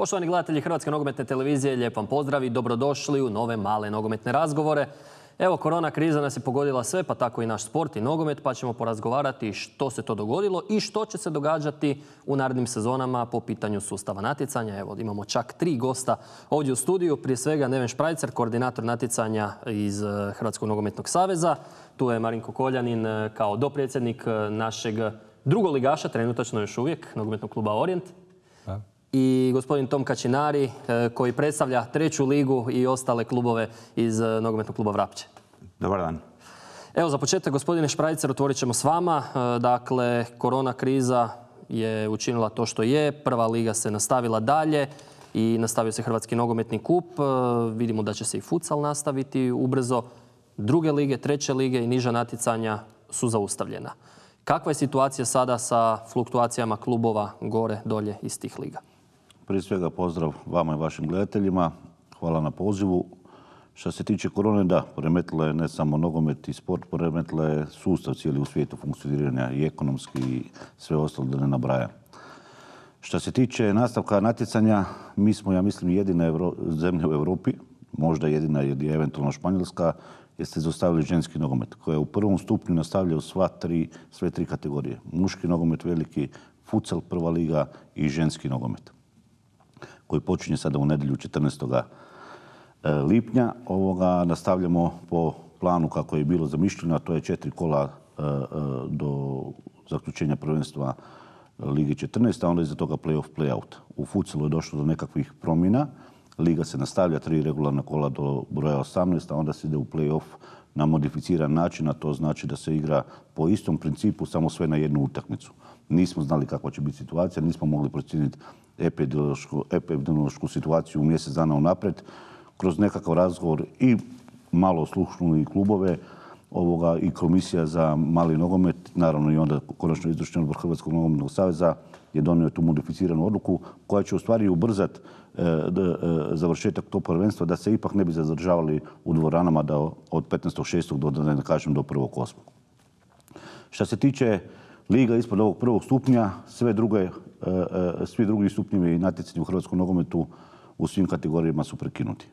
Poštovani gledatelji Hrvatske nogometne televizije, lijep vam pozdrav i dobrodošli u nove male nogometne razgovore. Evo, korona kriza nas je pogodila sve, pa tako i naš sport i nogomet, pa ćemo porazgovarati što se to dogodilo i što će se događati u narednim sezonama po pitanju sustava natjecanja. Evo, imamo čak 3 gosta ovdje u studiju. Prije svega Neven Šprajcer, koordinator natjecanja iz Hrvatskog nogometnog saveza. Tu je Marinko Koljanin kao dopredsjednik našeg drugoligaša, trenutačno još uvijek, nogometnog kluba Orijent. I gospodin Tom Kačinari koji predstavlja 3. ligu i ostale klubove iz nogometnog kluba Vrapče. Dobar dan. Evo, za početak, gospodine Šprajcer, otvorit ćemo s vama. Dakle, korona kriza je učinila to što je. 1. liga se nastavila dalje i nastavio se Hrvatski nogometni kup. Vidimo da će se i futsal nastaviti ubrzo. 2. lige, 3. lige i niža natjecanja su zaustavljena. Kakva je situacija sada sa fluktuacijama klubova gore, dolje iz tih liga? Prije svega pozdrav vama i vašim gledateljima. Hvala na pozivu. Što se tiče korone, da, poremetila je ne samo nogomet i sport, poremetila je sustav cijeli u svijetu funkcioniranja i ekonomski i sve ostalo da ne nabrajam. Što se tiče nastavka natjecanja, mi smo, ja mislim, jedina zemlja u Europi, možda jedina je eventualno Španjolska, jer ste zaustavili ženski nogomet, koja u 1. stupnju nastavljaju sve 3 kategorije. Muški nogomet veliki, futsal 1. liga i ženski nogomet, koji počinje sada u nedjelju 14. lipnja. Nastavljamo po planu kako je bilo zamišljeno, a to je 4 kola do zaključenja prvenstva Lige 14, a onda iza toga play-off, play-out. U futsalu je došlo do nekakvih promjena. Liga se nastavlja 3 regularna kola do broja 18, a onda se ide u play-off na modificiran način, a to znači da se igra po istom principu, samo sve na jednu utakmicu. Nismo znali kakva će biti situacija, nismo mogli procijeniti epidemiološku situaciju u mjesec dana unaprijed. Kroz nekakav razgovor i malo oslušnuli i klubove i komisija za mali nogomet, naravno i onda konačno izvršni odbor Hrvatskog nogometnog saveza je donio tu modificiranu odluku koja će u stvari ubrzati završetak tog prvenstva da se ipak ne bi zadržavali u dvoranama od 15.6. do, da ne kažem, do 1.8. Što se tiče liga ispod ovog 1. stupnja, svi drugi stupnjevi natjecanja u hrvatskom nogometu u svim kategorijama su prekinuti.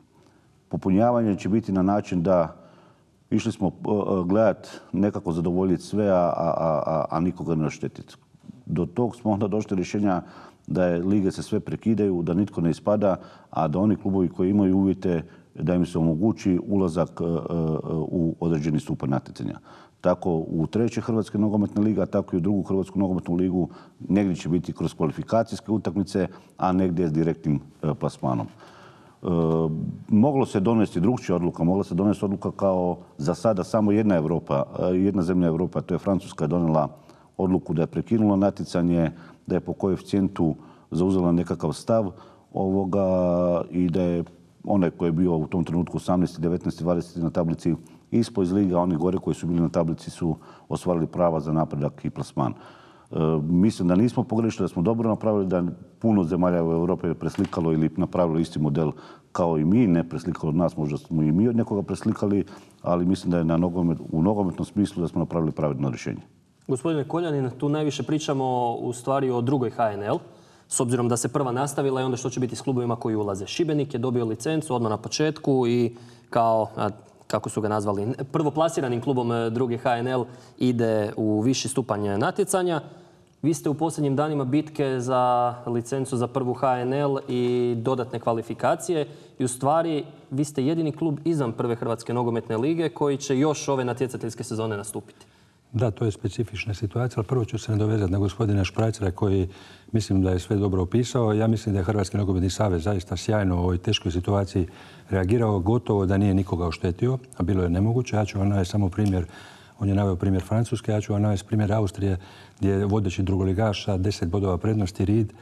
Popunjavanje će biti na način da išli smo gledati nekako zadovoljiti sve, a nikoga ne oštetiti. Do tog smo onda došli rješenja da lige se sve prekidaju, da nitko ne ispada, a da oni klubovi koji imaju uvjete da im se omogući ulazak u određeni stupanj natjecanja. Tako u 3. Hrvatske nogometne liga, tako i u 2. Hrvatsku nogometnu ligu negdje će biti kroz kvalifikacijske utakmice, a negdje s direktnim plasmanom. Moglo se donesti drugčija odluka, mogla se donesti odluka kao za sada samo jedna zemlja Europa, to je Francuska, donijela odluku da je prekinula natjecanje, da je po koeficijentu zauzela nekakav stav i da je onaj koji je bio u tom trenutku 18, 19, 20 na tablici ispod iz liga, oni gore koji su bili na tablici su ostvarili prava za napredak i plasman. Mislim da nismo pogrešili, da smo dobro napravili, da puno zemalja u Europi je preslikalo ili napravilo isti model kao i mi, ne preslikalo od nas, možda smo i mi od nekoga preslikali, ali mislim da je u nogometnom smislu da smo napravili pravedno rješenje. Gospodine Koljanin, tu najviše pričamo u stvari o 2. HNL, s obzirom da se 1. nastavila i onda što će biti s klubovima koji ulaze. Šibenik je dobio licencu odmah na početku i kao, kako su ga nazvali, prvoplasiranim klubom 2. HNL ide u viši stupanj natjecanja. Vi ste u posljednjim danima bitke za licencu za 1. HNL i dodatne kvalifikacije i u stvari vi ste jedini klub izvan 1. Hrvatske nogometne lige koji će još ove natjecateljske sezone nastupiti. Da, to je specifična situacija, ali prvo ću se nadovezati na gospodina Šprajcera koji mislim da je sve dobro opisao. Ja mislim da je Hrvatski nogometni savez zaista sjajno u ovoj teškoj situaciji reagirao, gotovo da nije nikoga oštetio, a bilo je nemoguće. Ja ću vam navesti samo primjer, on je naveo primjer Francuske, ja ću vam navesti primjer Austrije gdje je vodeći drugoligaš sa 10 bodova prednosti Ried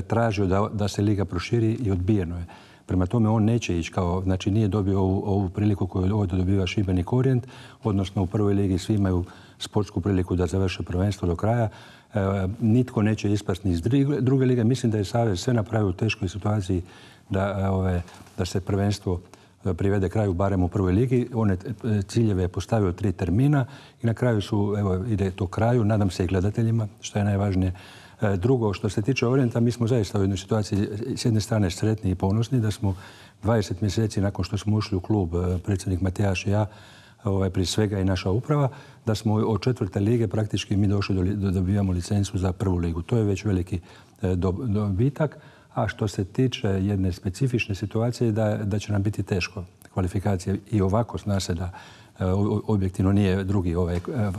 tražio da se liga proširi i odbijeno je. Prema tome on neće ići znači nije dobio ovu priliku koju ovdje dobiva Šibenik Orijent, odnosno u 1. ligi svi imaju sportsku priliku da završe prvenstvo do kraja. Nitko neće ispasti ni iz 2. lige. Mislim da je savez sve napravio u teškoj situaciji da se prvenstvo privede kraju barem u 1. ligi. One ciljeve je postavio 3 termina i na kraju ide to kraju. Nadam se i gledateljima, što je najvažnije. Drugo, što se tiče Orijenta, mi smo zaista u jednoj situaciji s jedne strane sretni i ponosni da smo 20 mjeseci nakon što smo ušli u klub, predsjednik Matijaš i ja, prije svega i naša uprava, da smo od 4. lige praktički mi došli da dobijamo licencu za 1. ligu. To je već veliki dobitak. A što se tiče jedne specifične situacije, da će nam biti teško kvalifikacije i ovako zna se da objektivno nije drugi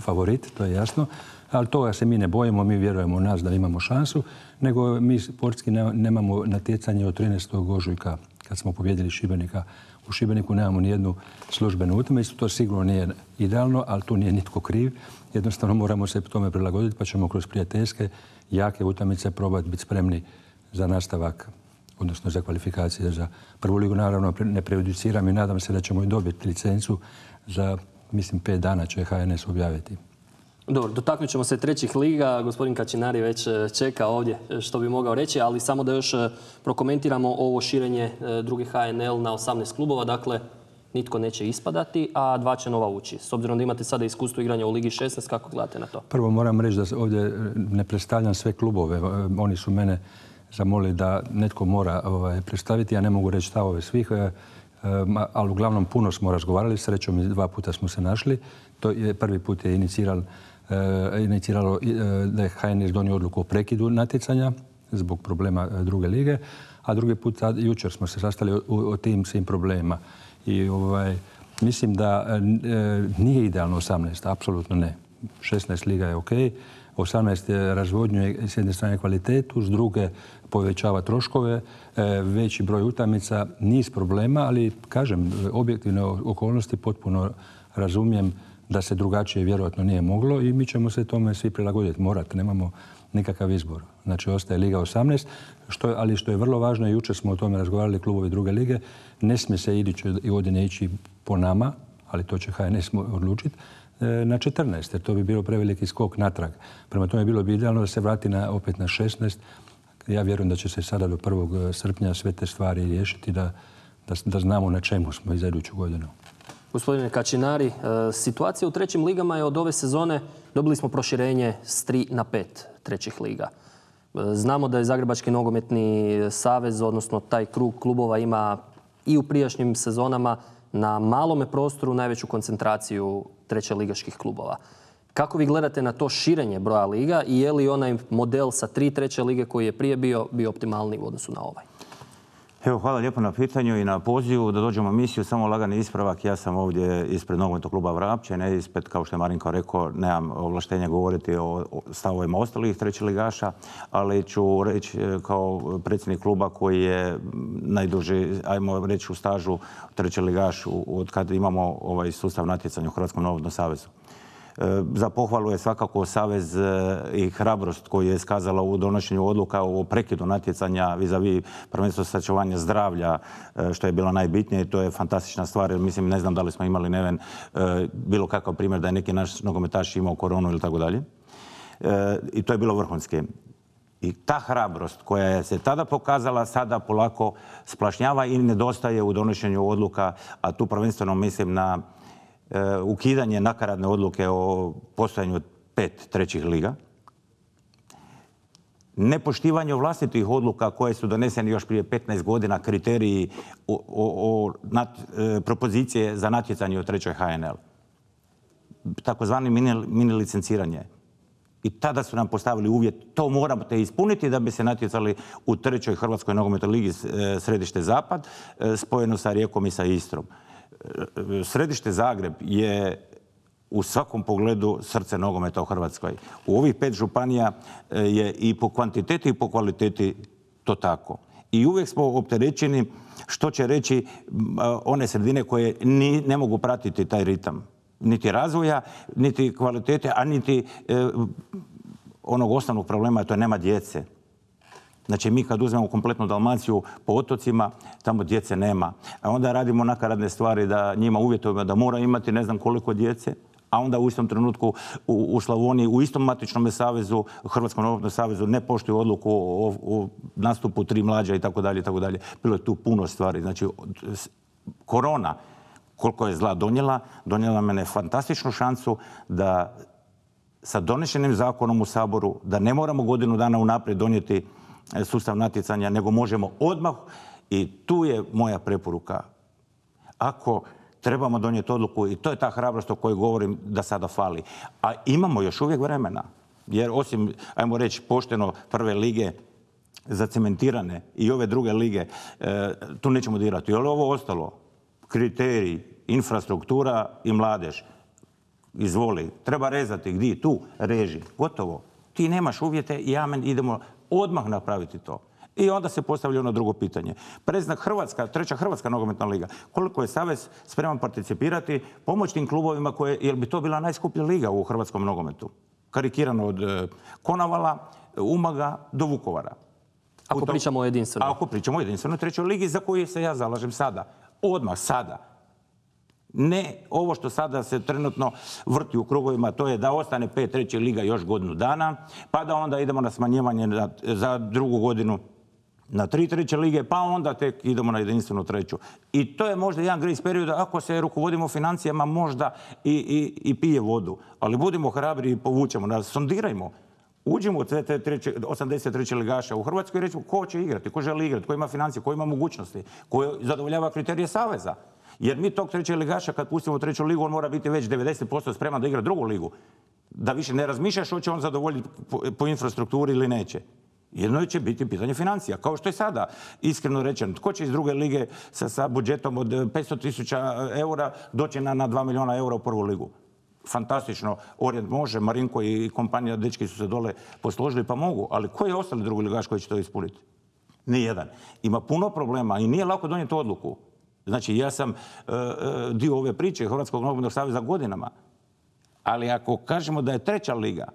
favorit, to je jasno. Ali toga se mi ne bojimo, mi vjerujemo u nas da imamo šansu, nego mi sportski nemamo natjecanje od 13. ožujka kad smo pobjedili Šibenika. U Šibeniku nemamo nijednu službenu utakmicu, to sigurno nije idealno, ali tu nije nitko kriv. Jednostavno moramo se tome prilagoditi pa ćemo kroz prijateljske, jake utakmice probati biti spremni za nastavak, odnosno za kvalifikacije za 1. ligu. Naravno, ne prejudiciram i nadam se da ćemo i dobiti licencu za, mislim, 5 dana će HNS objaviti. Dobro, dotaknut ćemo se 3. liga. Gospodin Kačinari već čeka ovdje što bi mogao reći, ali samo da još prokomentiramo ovo širenje 2. HNL na 18 klubova. Dakle, nitko neće ispadati, a 2 će nova ući. S obzirom da imate sada iskustvo igranja u Ligi 16, kako gledate na to? Prvo moram reći da ovdje ne predstavljam sve klubove. Oni su mene zamolili da netko mora predstaviti. Ja ne mogu reći stavove svih, ali uglavnom puno smo razgovarali. Srećom, 2 puta smo se našli. Prvi put je iniciralo da je HNS donio odluku o prekidu natjecanja zbog problema 2. lige, a drugi put jučer smo se sastali o tim svim problemima. I mislim da nije idealno 18, apsolutno ne. 16 liga je ok, 18 razvodnjuje s jedne strane kvalitetu, s druge povećava troškove, veći broj utakmica, niz problema, ali kažem, objektivne okolnosti potpuno razumijem da se drugačije vjerojatno nije moglo i mi ćemo se tome svi prilagoditi, morati, nemamo nikakav izbor. Znači, ostaje Liga 18, ali što je vrlo važno, jučer smo o tome razgovarali klubovi 2. lige, ne smije se iduće godine ići po nama, ali to će HNS odlučiti, na 14, jer to bi bilo preveliki skok natrag. Prema tome bilo bi idealno da se vrati opet na 16. Ja vjerujem da će se sada do 1. srpnja sve te stvari riješiti, da znamo na čemu smo i za iduću godinu. Gospodine Kačinari, situacija u 3. ligama je od ove sezone, dobili smo proširenje s 3 na 5 3. liga. Znamo da je Zagrebački nogometni savez, odnosno taj krug klubova ima i u prijašnjim sezonama na malome prostoru najveću koncentraciju 3. ligaških klubova. Kako vi gledate na to širenje broja liga i je li onaj model sa 3 3. lige koji je prije bio optimalni u odnosu na ovaj? Evo, hvala lijepo na pitanju i na pozivu da dođemo u emisiju. Samo lagani ispravak. Ja sam ovdje ispred nogometnog kluba Vrapče, ne ispred, kao što je Marinko rekao, nemam ovlaštenja govoriti o stavovima ostalih 3. ligaša, ali ću reći kao predsjednik kluba koji je najduži, ajmo reći, u stažu 3. ligaš od kada imamo ovaj sustav natjecanja u Hrvatskom nogometnom savezu. Za pohvalu je svakako savez i hrabrost koju je iskazala u donošenju odluka o prekidu natjecanja vis-a-vis prvenstveno sačuvanja zdravlja, što je bilo najbitnije. To je fantastična stvar. Mislim, ne znam da li smo imali Neven bilo kakav primjer da je neki naš nogometaš imao koronu ili tako dalje. I to je bilo vrhunski. I ta hrabrost koja je se tada pokazala, sada polako splašnjava i nedostaje u donošenju odluka, a tu prvenstveno mislim na ukidanje nakaradne odluke o postojanju 5 3. liga, nepoštivanje vlastitih odluka koje su donesene još prije 15 godina, kriteriji propozicije za natjecanje u 3. HNL, takozvani mini licenciranje. I tada su nam postavili uvjet, to morate ispuniti da bi se natjecali u 3. Hrvatskoj nogometnoj ligi Središte Zapad, spojeno sa Rijekom i sa Istrom. Središte Zagreb je u svakom pogledu srce nogometa u Hrvatskoj. U ovih 5 županija je i po kvantiteti i po kvaliteti to tako. I uvijek smo opterećeni, što će reći one sredine koje ne mogu pratiti taj ritam. Niti razvoja, niti kvalitete, a niti onog osnovnog problema, to je nema djece. Znači, mi kad uzmemo kompletnu Dalmaciju po otocima, tamo djece nema. A onda radimo nakaradne stvari da njima uvjetujemo da mora imati ne znam koliko djece, a onda u istom trenutku u Slavoniji, u istom matičnom savezu, Hrvatskom nogometnom savezu, ne poštuju odluku o nastupu 3 mlađa i tako dalje, i tako dalje. Bilo je tu puno stvari. Znači, korona, koliko je zla donijela mene fantastičnu šansu da sa donešenim zakonom u Saboru, da ne moramo godinu dana unaprijed donijeti sustav natjecanja, nego možemo odmah. I tu je moja preporuka. Ako trebamo donijeti odluku, i to je ta hrabrost o kojoj govorim da sada fali. A imamo još uvijek vremena. Jer osim, ajmo reći, pošteno prve lige zacementirane i ove druge lige, tu nećemo dirati. Ali ovo ostalo, kriteriji, infrastruktura i mladež, izvoli, treba rezati, gdje? Tu, reži, gotovo. Ti nemaš uvjete i amen, idemo odmah napraviti to. I onda se postavlja ono drugo pitanje. Predznak Hrvatska, treća Hrvatska nogometna liga. Koliko je Savez spreman participirati, pomoći tim klubovima koje, jer bi to bila najskuplja liga u hrvatskom nogometu. Karikirano od Konavala, Umaga do Vukovara. Ako pričamo o jedinstvenoj. Ako pričamo o jedinstvenoj trećoj ligi za koju se ja zalažem sada. Odmah, sada. Ne ovo što sada se trenutno vrti u krugovima, to je da ostane 5 trećih liga još godinu dana, pa da onda idemo na smanjivanje za drugu godinu na 3 treće lige, pa onda tek idemo na jedinstvenu treću. I to je možda jedan grace period ako se rukovodimo financijama možda i pije vodu. Ali budimo hrabri i povučemo nas, sondirajmo. Uđimo u sve te 83 ligaša u Hrvatskoj i rećemo ko će igrati, ko želi igrati, ko ima financije, ko ima mogućnosti, ko zadovoljava kriterije Saveza. Jer mi tog trećeg ligaša kad pustimo u treću ligu, on mora biti već 90% spreman da igra drugu ligu. Da više ne razmišljaš hoće on zadovoljiti po infrastrukturi ili neće. Jedno će biti pitanje financija, kao što je sada, iskreno rečeno. Tko će iz druge lige sa budžetom od 500.000 eura doći na 2 milijuna eura u prvu ligu? Fantastično, Orient može, Marinko i kompanija, dečki su se dole posložili pa mogu, ali koji je ostali drugi ligaš koji će to ispuniti? Nijedan. Ima puno problema i nije lako donijeti odluku. Znači, ja sam dio ove priče Hrvatskog nogometnog saveza godinama, ali ako kažemo da je treća liga,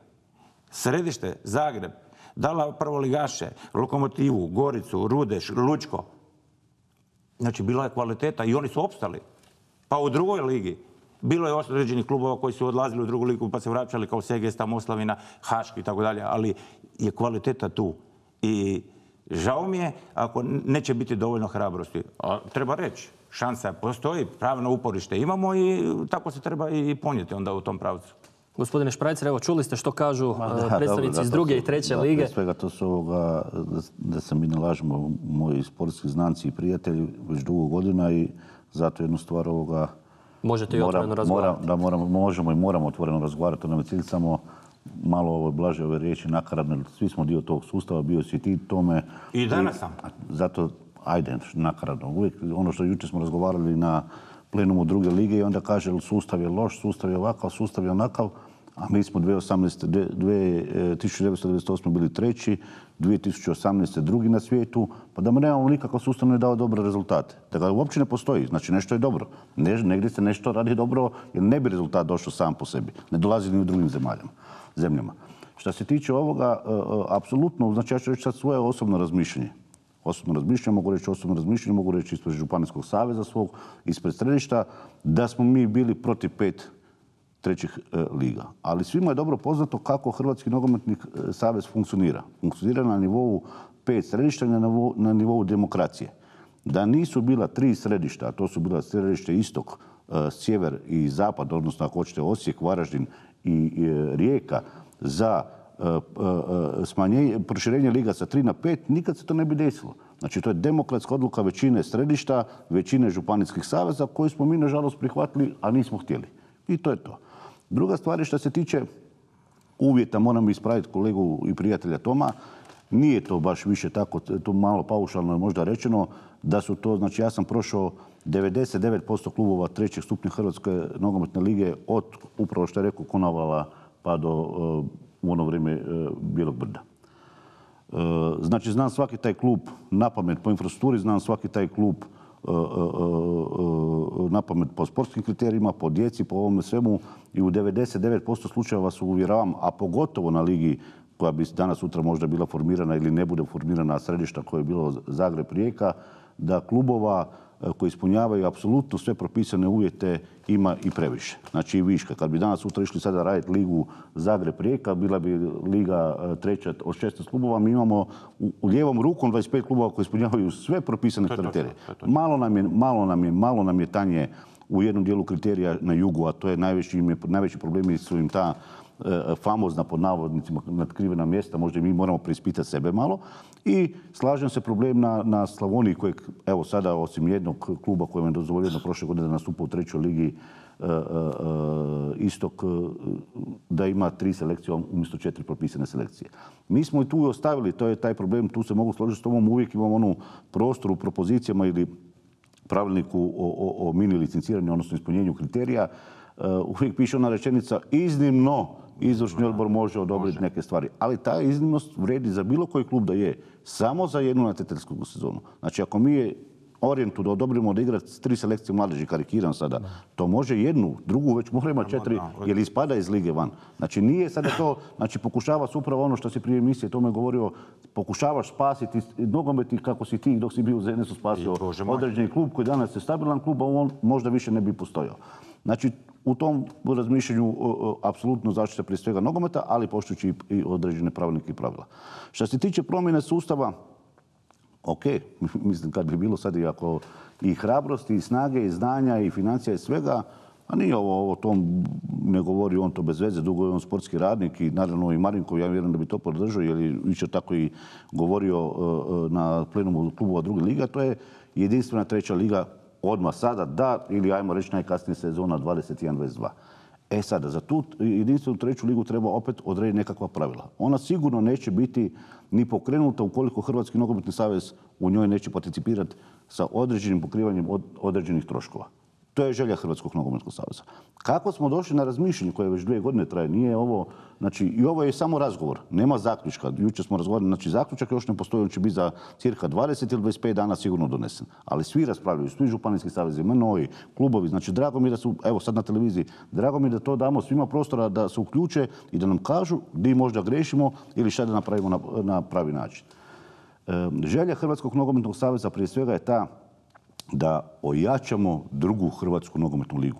Središte, Zagreb, dala prvoligaše, Lokomotivu, Goricu, Rudeš, Lučko, znači bila je kvaliteta i oni su opstali. Pa u drugoj ligi bilo je određenih klubova koji su odlazili u drugu ligu pa se vraćali kao Segesta, Moslavina, Haški i tako dalje, ali je kvaliteta tu. I žao mi je ako neće biti dovoljno hrabrosti. A treba reći, šansa postoji, pravno uporište imamo i tako se treba i ponijeti onda u tom pravcu. Gospodine Šprajcer, evo čuli ste što kažu predstavnici iz druge i treće lige. Prije svega to su da se mi ne lažemo, moji sportski znanci i prijatelji već dugo godina i zato jednu stvar možete i otvoreno razgovarati. Možemo i moramo otvoreno razgovarati. Ono cilj samo malo blaže ove riječi nakaradne. Svi smo dio tog sustava, bio si ti tome. I danas sam. Zato, ajde, nakaradno. Uvijek ono što jučer smo razgovarali na plenumu druge lige i onda kaže sustav je loš, sustav je ovakav, sustav je onakav, a mi smo 1998. bili treći, 2018. drugi na svijetu, pa da nemamo nikakav sustav ne dao dobre rezultate. Da ga uopće ne postoji, znači nešto je dobro. Negdje se nešto radi dobro jer ne bi rezultat došao sam po sebi. Ne dolazi ni u drugim zemljama. Što se tiče ovoga, apsolutno, znači ja ću reći sad svoje osobno razmišljanje. Mogu reći ispred Županijskog saveza svog, ispred Središta, da smo mi bili protiv 5 trećih liga. Ali svima je dobro poznato kako Hrvatski nogometni savez funkcionira. Funkcionira na nivou 5 središta i na nivou demokracije. Da nisu bila 3 središta, a to su bila središte istok, sjever i zapad, odnosno ako hoćete Osijek, Varaždin i Rijeka, za proširenje liga sa 3 na 5, nikad se to ne bi desilo. Znači, to je demokratska odluka većine središta, većine županijskih saveza, koju smo mi, nažalost, prihvatili, a nismo htjeli. I to je to. Druga stvar je što se tiče uvjeta, moram ispraviti kolegu i prijatelja Toma, nije to baš više tako, to malo paušalno je možda rečeno, da su to, znači ja sam prošao 99% klubova trećeg stupnja Hrvatske nogometne lige od, upravo što je rekao, Konavala pa do u ono vrijeme Bijelog brda. Znači, znam svaki taj klub napamet po infrastrukturi, znam svaki taj klub napamet po sportskim kriterijima, po djeci, po ovome svemu i u 99% slučajeva vas uvjeravam, a pogotovo na ligi koja bi danas sutra možda bila formirana ili ne bude formirana središta koje je bilo Zagreb, Rijeka, da klubova koji ispunjavaju apsolutno sve propisane uvjete ima i previše. Znači i viška. Kad bi danas sutra išli sada raditi ligu Zagreb-Rijeka, bila bi liga treća od 16 klubova, mi imamo u lijevom rukom 25 klubova koji ispunjavaju sve propisane kriterije. Malo nam je tanje u jednom dijelu kriterija na jugu, a to je najveći problemi su im ta famozna, pod navodnicima, natkrivena mjesta, možda i mi moramo preispitati sebe malo. I slažem se, problem na Slavoniji kojeg, evo sada, osim jednog kluba kojem je dozvoljeno prošle godine da nastupa u 3. ligi Istok, da ima 3 selekcije umjesto 4 propisane selekcije. Mi smo i tu ostavili, to je taj problem, tu se mogu složiti s tobom, uvijek imamo onu prostor u propozicijama ili pravilniku o mini licenciranju, odnosno ispunjenju kriterija. Uvijek piše ona rečenica, iznimno izvršni odbor može odobriti neke stvari. Ali ta iznimnost vredi za bilo koji klub da je, samo za jednu natjecateljsku sezonu. Znači, ako mi je Orijentu da odobrimo da igra 3 selekcije mladeži, karikiram sada, to može jednu, drugu već mora imati 4 jer ispada iz lige van. Znači nije sada to, znači pokušava se upravo ono što si prije emisije tome govorio, pokušavaš spasiti nogometi kako si ti dok si bio u ZNS-u spasio određeni klub koji danas je stabilan klub, a on možda više ne bi postojao. Znači u tom razmišljanju apsolutno zaštita prije svega nogometa, ali poštujući i određene pravilnike i pravila. Što se tiče promjene sustava, ok, mislim kad bi bilo sad i ako i hrabrosti, i snage, i znanja, i financija i svega, a nije ovo to, ne govori on to bez veze, dugo je on sportski radnik i naravno i Marinko, ja vjerujem da bi to podržao jer je jučer tako i govorio na plenumu klubova druge liga, to je jedinstvena 3. liga odmah sada da, ili ajmo reći najkasnije sezona 21-22. E sada, za tu jedinstvenu 3. ligu treba opet odrediti nekakva pravila. Ona sigurno neće biti ni pokrenuta ukoliko Hrvatski nogometni savez u njoj neće participirati sa određenim pokrivanjem određenih troškova. To je želja Hrvatskog nogometnog saveza. Kako smo došli na razmišljanje koje već 2 godine traje, nije ovo, znači i ovo je samo razgovor, nema zaključka. Jučer smo razgovarali, znači zaključak još ne postoji, on će biti za cirka 20 ili 25 dana sigurno donesen. Ali svi raspravljaju, svi županijski savezi, MNO-i, klubovi, znači drago mi je da su, evo sad na televiziji, drago mi je da to damo svima prostora da se uključe i da nam kažu gdje možda grešimo ili šta da napravimo na pravi način. Želja Hrvatskog nogometnog saveza prije svega je ta da ojačamo drugu Hrvatsku nogometnu ligu.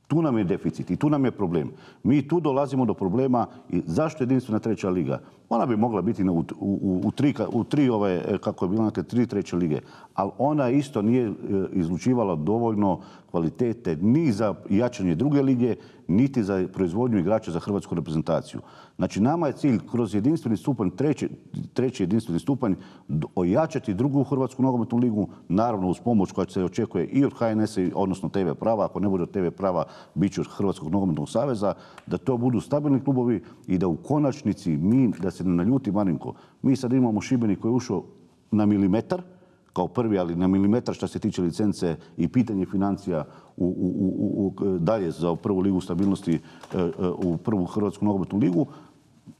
Tu nam je deficit i tu nam je problem. Mi tu dolazimo do problema i zašto jedinstvena 3. liga? Ona bi mogla biti u tri kako je bilo, 3 3. lige, ali ona isto nije izlučivala dovoljno kvalitete ni za jačanje druge lige, niti za proizvodnju igrača za hrvatsku reprezentaciju. Znači, nama je cilj kroz jedinstveni stupanj, treći jedinstveni stupanj, ojačati drugu Hrvatsku nogometnu ligu, naravno uz pomoć koja se očekuje i od HNS-a, odnosno TV prava, ako ne bude od TV prava, bit će od Hrvatskog nogometnog saveza, da to budu stabilni klubovi i da u konačnici mi, da se ne naljuti Marinko, mi sad imamo Šibenik koji je ušao na milimetar, kao prvi, ali na milimetar što se tiče licence i pitanje financija dalje za prvu ligu stabilnosti u prvu Hrvatsku nogometnu ligu.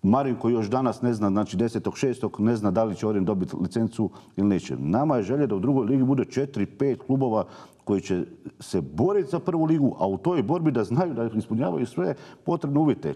Marinko još danas ne zna, znači 10.6. ne zna da li će Orient dobiti licencu ili neće. Nama je želja da u drugoj ligi bude 4-5 klubova koji će se boriti za prvu ligu, a u toj borbi da znaju da ispunjavaju sve potrebne uvjete.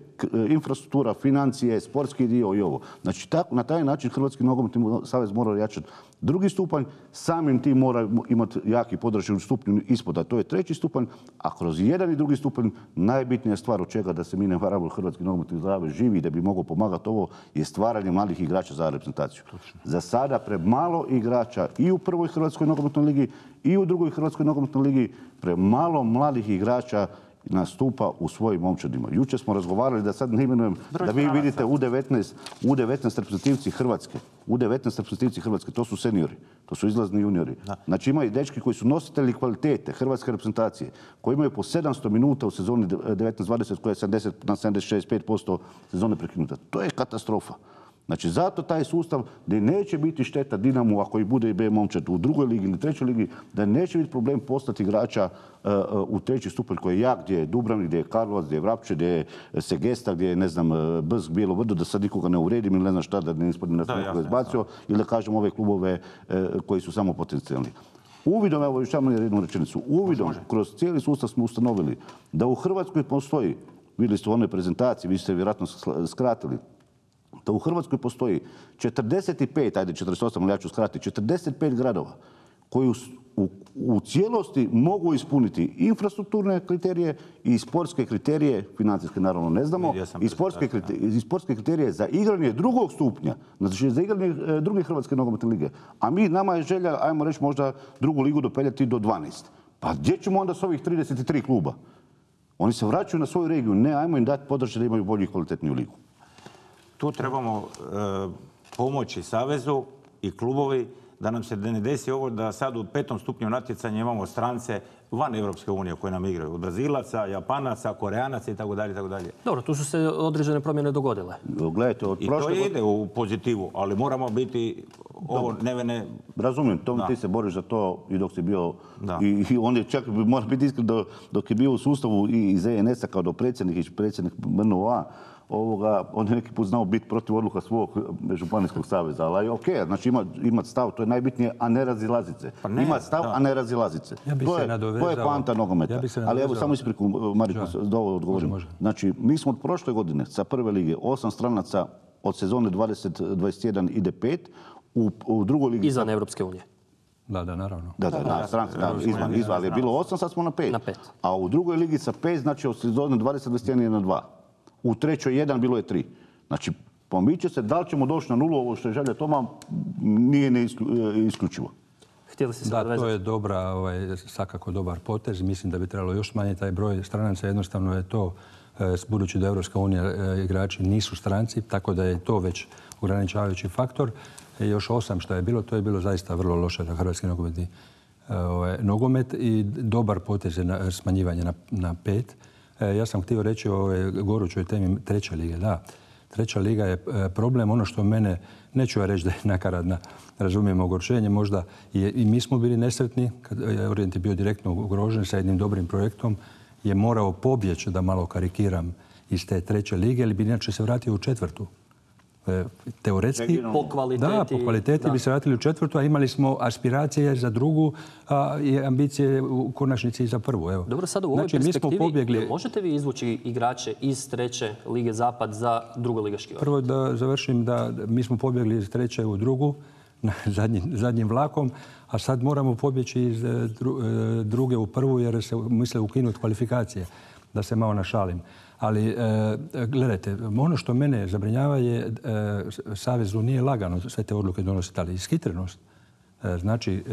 Infrastruktura, financije, sportski dio i ovo. Znači, na taj način Hrvatski nogometni savez mora jačati drugi stupanj, samim tim mora imati jaki podršak stupnju ispod, a to je 3. stupanj, a kroz jedan i drugi stupanj najbitnija stvar od čega da se mi ne varamo Hrvatski nogometni savez živi da bi mogao pomagati ovo je stvaranje mladih igrača za reprezentaciju. Za sada premalo igrača i u prvoj Hrvatskoj nogometnoj ligi i u drugoj Hrvatskoj nogometnoj ligi, premalo mladih igrača nastupa u svojim momčadima. Jučer smo razgovarali da sad ne imenujem, da vi vidite U19 reprezentativci Hrvatske. U19 reprezentativci Hrvatske, to su seniori, to su izlazni juniori. Znači imaju dečki koji su nositelji kvalitete Hrvatske reprezentacije, koji imaju po 700 minuta u sezoni 19-20 koja je 70 na 76% sezone prekinuta. To je katastrofa. Znači, zato taj sustav gdje neće biti šteta Dinamu ako i bude i B momčad u drugoj ligi ili 3. ligi, da neće biti problem postati igrača u 3. stupanj koji je jak, gdje je Dubrovnik, gdje je Karlovac, gdje je Vrapče, gdje je Segesta, gdje je, ne znam, Brzg, Bijelo Vrdo, da sad nikoga ne uvredim ili ne znam šta, da ne ispadne da sam nekoga izbacio, ili da kažem ove klubove koji su samo potencijalni. Uvidom, evo još samo jednu rečenicu, uvidom kroz cijeli sustav smo ustanovili da u Hrvatskoj postoji, vidjeli ste u onoj prezentaciji, vi ste vjerojatno skratili, da u Hrvatskoj postoji 45, ajde 48, ali ja ću skratiti, 45 gradova koji u cijelosti mogu ispuniti infrastrukturne kriterije i sportske kriterije, financijske naravno ne znamo, i sportske kriterije za igranje drugog stupnja, znači za igranje druge Hrvatske nogometne lige. A nama je želja, ajmo reći, možda drugu ligu dopeljati do 12. Pa gdje ćemo onda s ovih 33 kluba? Oni se vraćaju na svoju regiju. Ne, ajmo im dati podrške da imaju bolju i kvalitetniju ligu. Tu trebamo pomoći Savezu i klubovi da nam se ne desi ovo da sad u 5. stupnju natjecanja imamo strance van Europske unije koje nam igraju. Od Brazilaca, Japanaca, Koreanaca itd. Dobro, tu su se određene promjene dogodile. Gledajte, od I to ide u pozitivu, ali moramo biti ovo nevene... Razumijem, ti se boriš za to i dok si bio... I on je čak, mora biti iskren, dok je bio u sustavu i iz ENS-a kao dopredsjednik i predsjednik MNO-a, on je neki put znao biti protiv odluka svog županijskog saveza. Ali ok, znači imati stav, to je najbitnije, a ne razilazit se. Imati stav, a ne razilazit se. To je poanta nogometa. Ali evo, samo ispriku, Mariko, da ovo odgovorim. Znači, mi smo od prošle godine sa prve lige 8 stranaca od sezone 20-21 ide 5, u drugoj ligi... Izvan Europske unije. Da, naravno. Da, stranci, izvan, ali je bilo 8, sad smo na 5. A u drugoj ligi sa 5, znači od sezone 20-21 je na 2. U trećoj 1, bilo je 3. Znači, pomiče se, da li ćemo doći na 0, ovo što je želja Toma, nije isključivo. Da, to je dobra, svakako dobar potez. Mislim da bi trebalo još smanjiti taj broj stranaca. Jednostavno je to, budući da Europska unija igrači nisu stranci, tako da je to već ograničavajući faktor. Još 8 što je bilo, to je bilo zaista vrlo loše za hrvatski nogomet i dobar potez je smanjivanje na 5. Ja sam htio reći o ovoj gorućoj temi treće lige. Da, treća liga je problem. Ono što mene, neću ja reći da je nakaradna, razumijem ogorčenje, možda i mi smo bili nesretni, kad je Orient bio direktno ugrožen sa jednim dobrim projektom, je morao pobjeći, da malo karikiram, iz te treće lige, ili bi inače se vratio u četvrtu. Teoretski, po kvaliteti bi se vratili u četvrtu, a imali smo aspiracije za drugu i ambicije u konačnici i za prvu. Evo. Dobro, sada u ovoj perspektivi možete vi izvući igrače iz treće lige Zapad za drugoligaški Orient? Prvo da završim da mi smo pobjegli iz treće u drugu, zadnjim vlakom, a sad moramo pobjeći iz druge u prvu jer se misle ukinuti kvalifikacije, da se malo našalim. Ali, gledajte, ono što mene zabrinjava je Savezu nije lagano sve te odluke donositi, ali ishitrenost. Znači,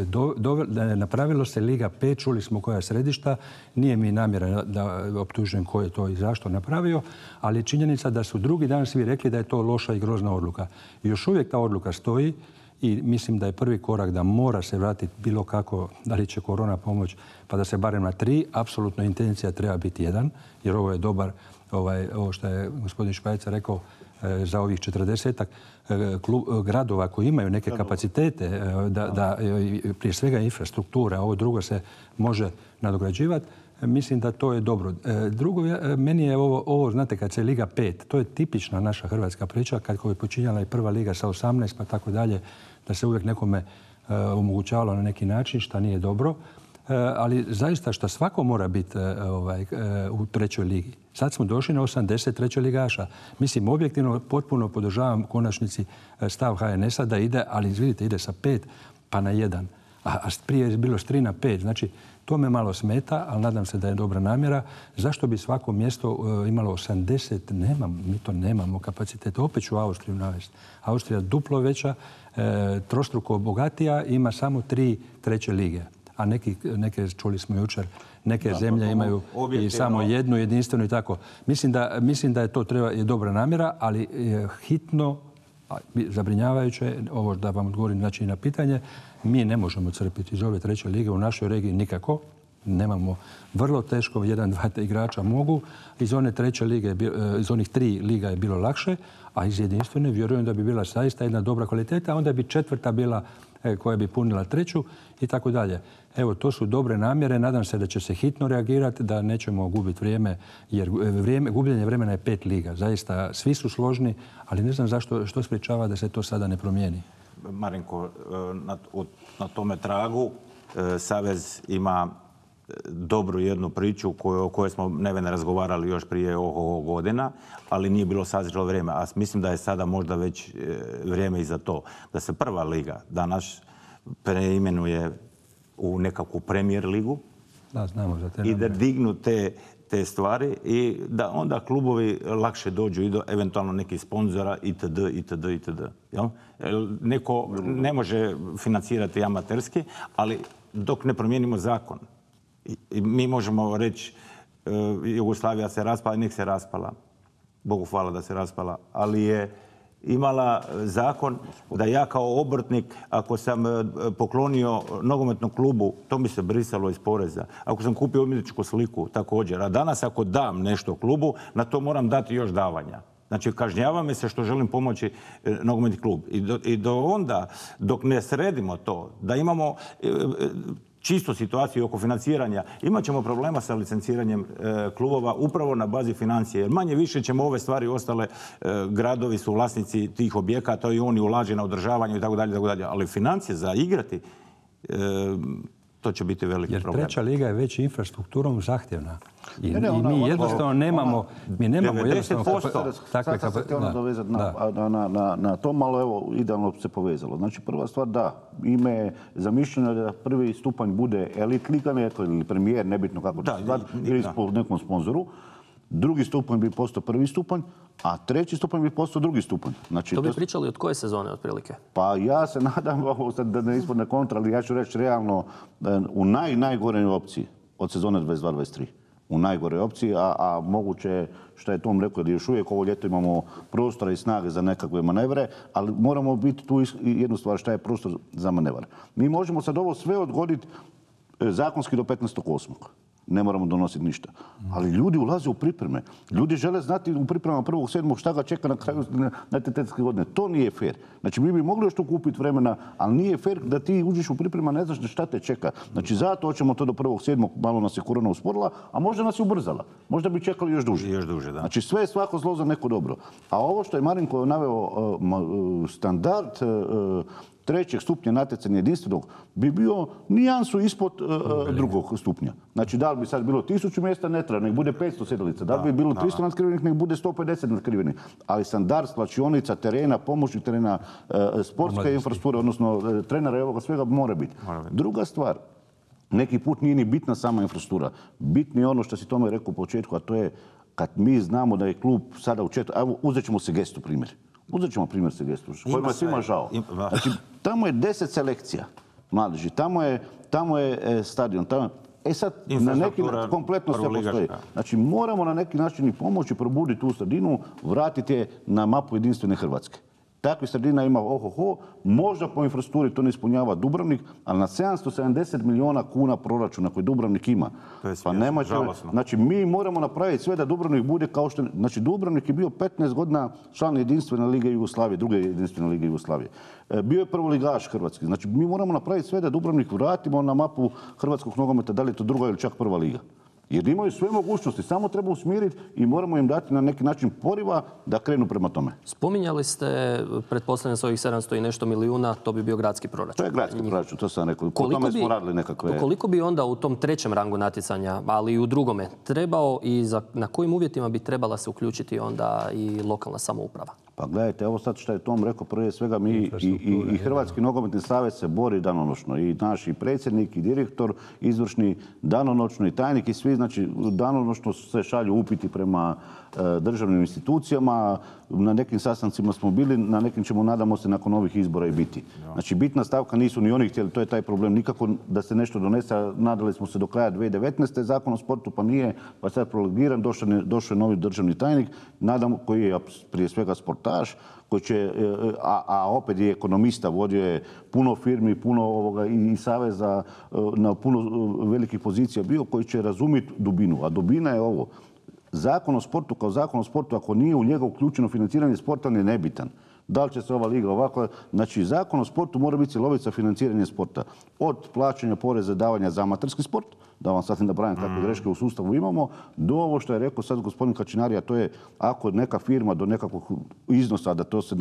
napravilo se Liga 5, čuli smo koja je središta, nije mi namjera da optužujem ko je to i zašto napravio, ali činjenica da su drugi dan svi rekli da je to loša i grozna odluka. I još uvijek ta odluka stoji i mislim da je prvi korak da mora se vratiti bilo kako, da li će korona pomoć, pa da se barem na 3, apsolutno intencija treba biti 1, jer ovo je dobar, ovo što je gospodin Špajcar rekao, za ovih 40-ak gradova koji imaju neke kapacitete, da prije svega infrastruktura, ovo drugo se može nadograđivati, mislim da to je dobro. Drugo, meni je ovo, znate, kad se Liga 5, to je tipična naša hrvatska priča, kad je počinjala i prva liga sa 18 pa tako dalje, da se uvijek nekome omogućavalo na neki način, što nije dobro. Ali zaista što svako mora biti u trećoj ligi. Sad smo došli na 83 ligaša. Mislim, objektivno potpuno podržavam u konačnici stav HNS-a da ide, ali vidite, ide sa 5 pa na 1. A prije je bilo s 3 na 5. Znači, to me malo smeta, ali nadam se da je dobra namjera. Zašto bi svako mjesto imalo 80? Mi to nemamo kapacitet. Opet ću Austriju navesti. Austrija duplo veća, trostruko bogatija, ima samo 3 treće lige. A neke, čuli smo jučer, neke zemlje imaju i samo jednu, jedinstvenu i tako. Mislim da je to je dobra namjera, ali hitno, zabrinjavajuće, ovo da vam odgovorim znači na pitanje, mi ne možemo crpiti iz ove treće lige u našoj regiji nikako. Nemamo, vrlo teško, 1-2 igrača mogu. Iz one treće lige, iz onih 3 liga je bilo lakše, a iz jedinstvene vjerujem da bi bila zaista jedna dobra kvaliteta, a onda bi četvrta bila koja bi punila treću i tako dalje. Evo, to su dobre namjere. Nadam se da će se hitno reagirati, da nećemo gubiti vrijeme, jer gubljenje vremena je 5 liga. Zaista, svi su složni, ali ne znam što sprječava da se to sada ne promijeni. Marinko, na tome tragu Savez ima dobru jednu priču o kojoj smo nevene razgovarali još prije ovog godina, ali nije bilo sazrelo vrijeme. A mislim da je sada možda već vrijeme i za to. Da se prva liga danas preimenuje u nekakvu premijer ligu. Da, znamo za te i da dignu te stvari i da onda klubovi lakše dođu i do eventualno nekih sponzora itd. Jel? Neko ne može financirati amaterski, ali dok ne promijenimo zakon. I mi možemo reći Jugoslavija se raspala i nek se raspala. Bogu hvala da se raspala. Ali je imala zakon da ja kao obrtnik, ako sam poklonio nogometnom klubu, to mi se brisalo iz poreza. Ako sam kupio umjetničku sliku, također. A danas ako dam nešto klubu, na to moram dati još davanja. Znači, kažnjava me se što želim pomoći nogometni klub. I do onda, dok ne sredimo to, da imamo čistu situaciju oko financiranja, imat ćemo problema sa licenciranjem klubova upravo na bazi financije. Jer manje više ćemo ove stvari ostale, gradovi su vlasnici tih objekata i oni ulaže na održavanje i tako dalje. Ali financije za igrati, to će biti veliki problem. Jer treća liga je već infrastrukturom zahtjevna. I mi jednostavno nemamo... Mi nemamo 90%. Sad sam se htio nadovezati na to, malo evo, idealno se povezalo. Znači, prva stvar, da, ime je zamišljeno da prvi stupanj bude elit liga, ili premijer, nebitno kako će se zvati, ili po nekom sponzoru. Drugi stupanj bi postao prvi stupanj, a treći stupanj bi postao drugi stupanj. Znači, to bi pričali od koje sezone otprilike? Pa ja se nadam, da ne ispadne kontra, ali ja ću reći realno u najgoroj opciji od sezone 22-23. U najgoroj opciji, a moguće što je Tom rekao da još uvijek ovo ljeto imamo prostora i snage za nekakve manevre, ali moramo biti tu jednu stvar, šta je prostor za manevar. Mi možemo sad ovo sve odgoditi zakonski do 15.8. Ne moramo donositi ništa. Ali ljudi ulaze u pripreme. Ljudi žele znati u pripremama 1.7. šta ga čeka na kraju natjecateljske godine. To nije fair. Znači, mi bi mogli još tu kupiti vremena, ali nije fair da ti uđeš u priprema, ne znaš šta te čeka. Znači, zato hoćemo to do 1.7. Malo nas je korona usporila, a možda nas je ubrzala. Možda bi čekali još duže. Još duže, da. Znači, sve je svako zlo za neko dobro. A ovo što je Marinko naveo, standard trećeg stupnja natjecanja jedinstvenog bi bio nijansu ispod drugog stupnja. Znači, da li bi sad bilo 1000 mjesta, ne treba, nek bude 500 sjedalica. Da li bi bilo 300 natkrivenih, nek bude 150 natkrivenih. Ali standard slačionica, terena, pomoćnih terena, sportska infrastruktura, odnosno trenera i ovoga svega mora biti. Druga stvar, neki put nije ni bitna sama infrastruktura. Bitno je ono što si Tome rekao u početku, a to je kad mi znamo da je klub sada u četvrtom... Evo, uzet ćemo Segestu primjer. Uzet ćemo primjer Segestu, kojima je svima žao. Znači, tamo je 10 selekcija mladeži, tamo je stadion. Sad, na neki način kompletno sve postoji. Znači, moramo na neki način i pomoći probuditi tu sredinu, vratiti je na mapu jedinstvene Hrvatske. Takvih sredina ima možda po infrastrukturi to ne ispunjava Dubrovnik, ali na 770 milijuna kuna proračuna koji Dubrovnik ima. Pa nema žalosno. Znači, mi moramo napraviti sve da Dubrovnik bude kao što... Znači, Dubrovnik je bio 15 godina član jedinstvene lige Jugoslavije, druge jedinstvene lige Jugoslavije. Bio je prvoligaš hrvatski. Znači, mi moramo napraviti sve da Dubrovnik vratimo na mapu hrvatskog nogometa, da li je to druga ili čak prva liga. Jer imaju sve mogućnosti, samo treba usmjeriti i moramo im dati na neki način poriva da krenu prema tome. Spominjali ste, pretpostavljam, svojih 700 i nešto milijuna, to bi bio gradski proračun. To je gradski proračun, to sam rekao. Po tome smo radili nekakve... Koliko bi onda u tom trećem rangu natjecanja, ali i u drugome, trebao i na kojim uvjetima bi trebala se uključiti onda i lokalna samouprava? Pa gledajte, evo sad što je Tom rekao, prije svega mi i Hrvatski nogometni savez se bori danonoćno. I naš i predsjednik, i direktor, izvršni danonoćno, i tajnik, i svi, znači danonoćno se šalju upiti prema državnim institucijama. Na nekim sastancima smo bili, na nekim ćemo, nadamo se, nakon ovih izbora i biti. Znači, bitna stavka nisu ni oni htjeli, to je taj problem. Nikako da se nešto donese, nadali smo se do kraja 2019. Zakon o sportu, pa nije, pa sad prologiran, došao je novi državni tajnik, nadam, koji je prije svega sportaš, koji će, a opet je ekonomista, vodio je puno firmi, puno i saveza na puno velikih pozicija bio, koji će razumjeti dubinu. A dubina je ovo. Zakon o sportu kao zakon o sportu, ako nije u njega uključeno financiranje sporta, je nebitan. Da li će se ova liga ovako... Znači, zakon o sportu mora biti cjelovit za financiranje sporta. Od plaćanja poreza davanja za amaterski sport, da vam sad ne napravim kakve greške u sustavu imamo, do ovo što je rekao sad gospodin Kačinari, a to je ako neka firma do nekakvog iznosa, da to se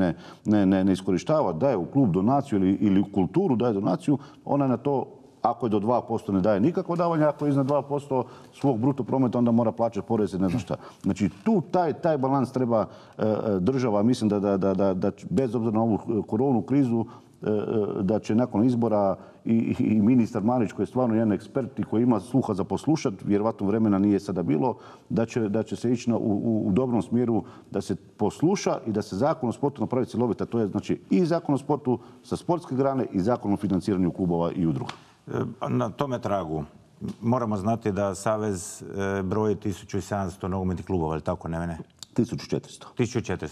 ne iskorištava, daje u klub donaciju ili u kulturu daje donaciju, ona na to, ako je do 2% ne daje nikakvo davanje, ako je iznad 2% svog bruto prometa, onda mora plaćati porez i ne znam šta. Znači, tu taj balans treba država, mislim da bez obzira na ovu koronu krizu, da će nakon izbora i ministar Marić, koji je stvarno jedan ekspert i koji ima sluha za poslušati, vjerovatno vremena nije sada bilo, da će se ići u dobrom smjeru da se posluša i da se zakon o sportu napravi cjelovita. To je znači i zakon o sportu sa sportske grane i zakon o financiranju klubova i udruga. Na tome tragu Moramo znati da Savez broji 1700 nogometnih klubova, ali tako ne? 1400. 1400.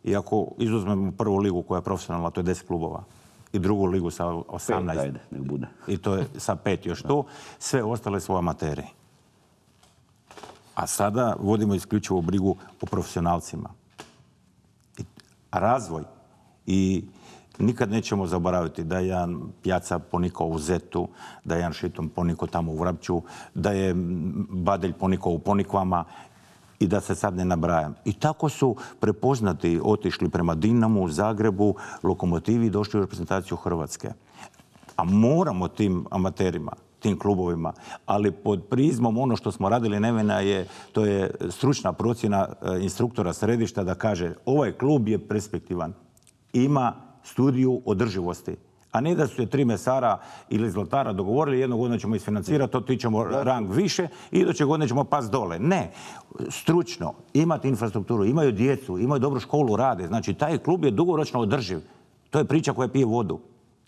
I ako izuzmemo prvu ligu koja je profesionalna, to je 10 klubova. I drugu ligu sa 18. 5, ajde, nek bude. I to je sa 5 još tu. Sve ostale su amateri. A sada vodimo isključivo brigu o profesionalcima. A razvoj i nikad nećemo zaboraviti da je jedan Pjaca ponikao u Zetu, da je jedan Šitom ponikao tamo u Vrapću, da je Badelj ponikao u Ponikvama i da se sad ne nabrajam. I tako su prepoznati, otišli prema Dinamu, Zagrebu, Lokomotivi i došli u reprezentaciju Hrvatske. A moramo tim amaterima, tim klubovima, ali pod prizmom ono što smo radili Nevena to je stručna procjena instruktora središta da kaže ovaj klub je perspektivan, ima studiju održivosti. A ne da su je 3 mesara ili zlatara dogovorili, jednog godina ćemo isfinancirati, otićemo rang više i iduće godine ćemo pas dole. Ne, stručno, imati infrastrukturu, imaju djecu, imaju dobru školu, rade. Znači, taj klub je dugoročno održiv. To je priča koja pije vodu.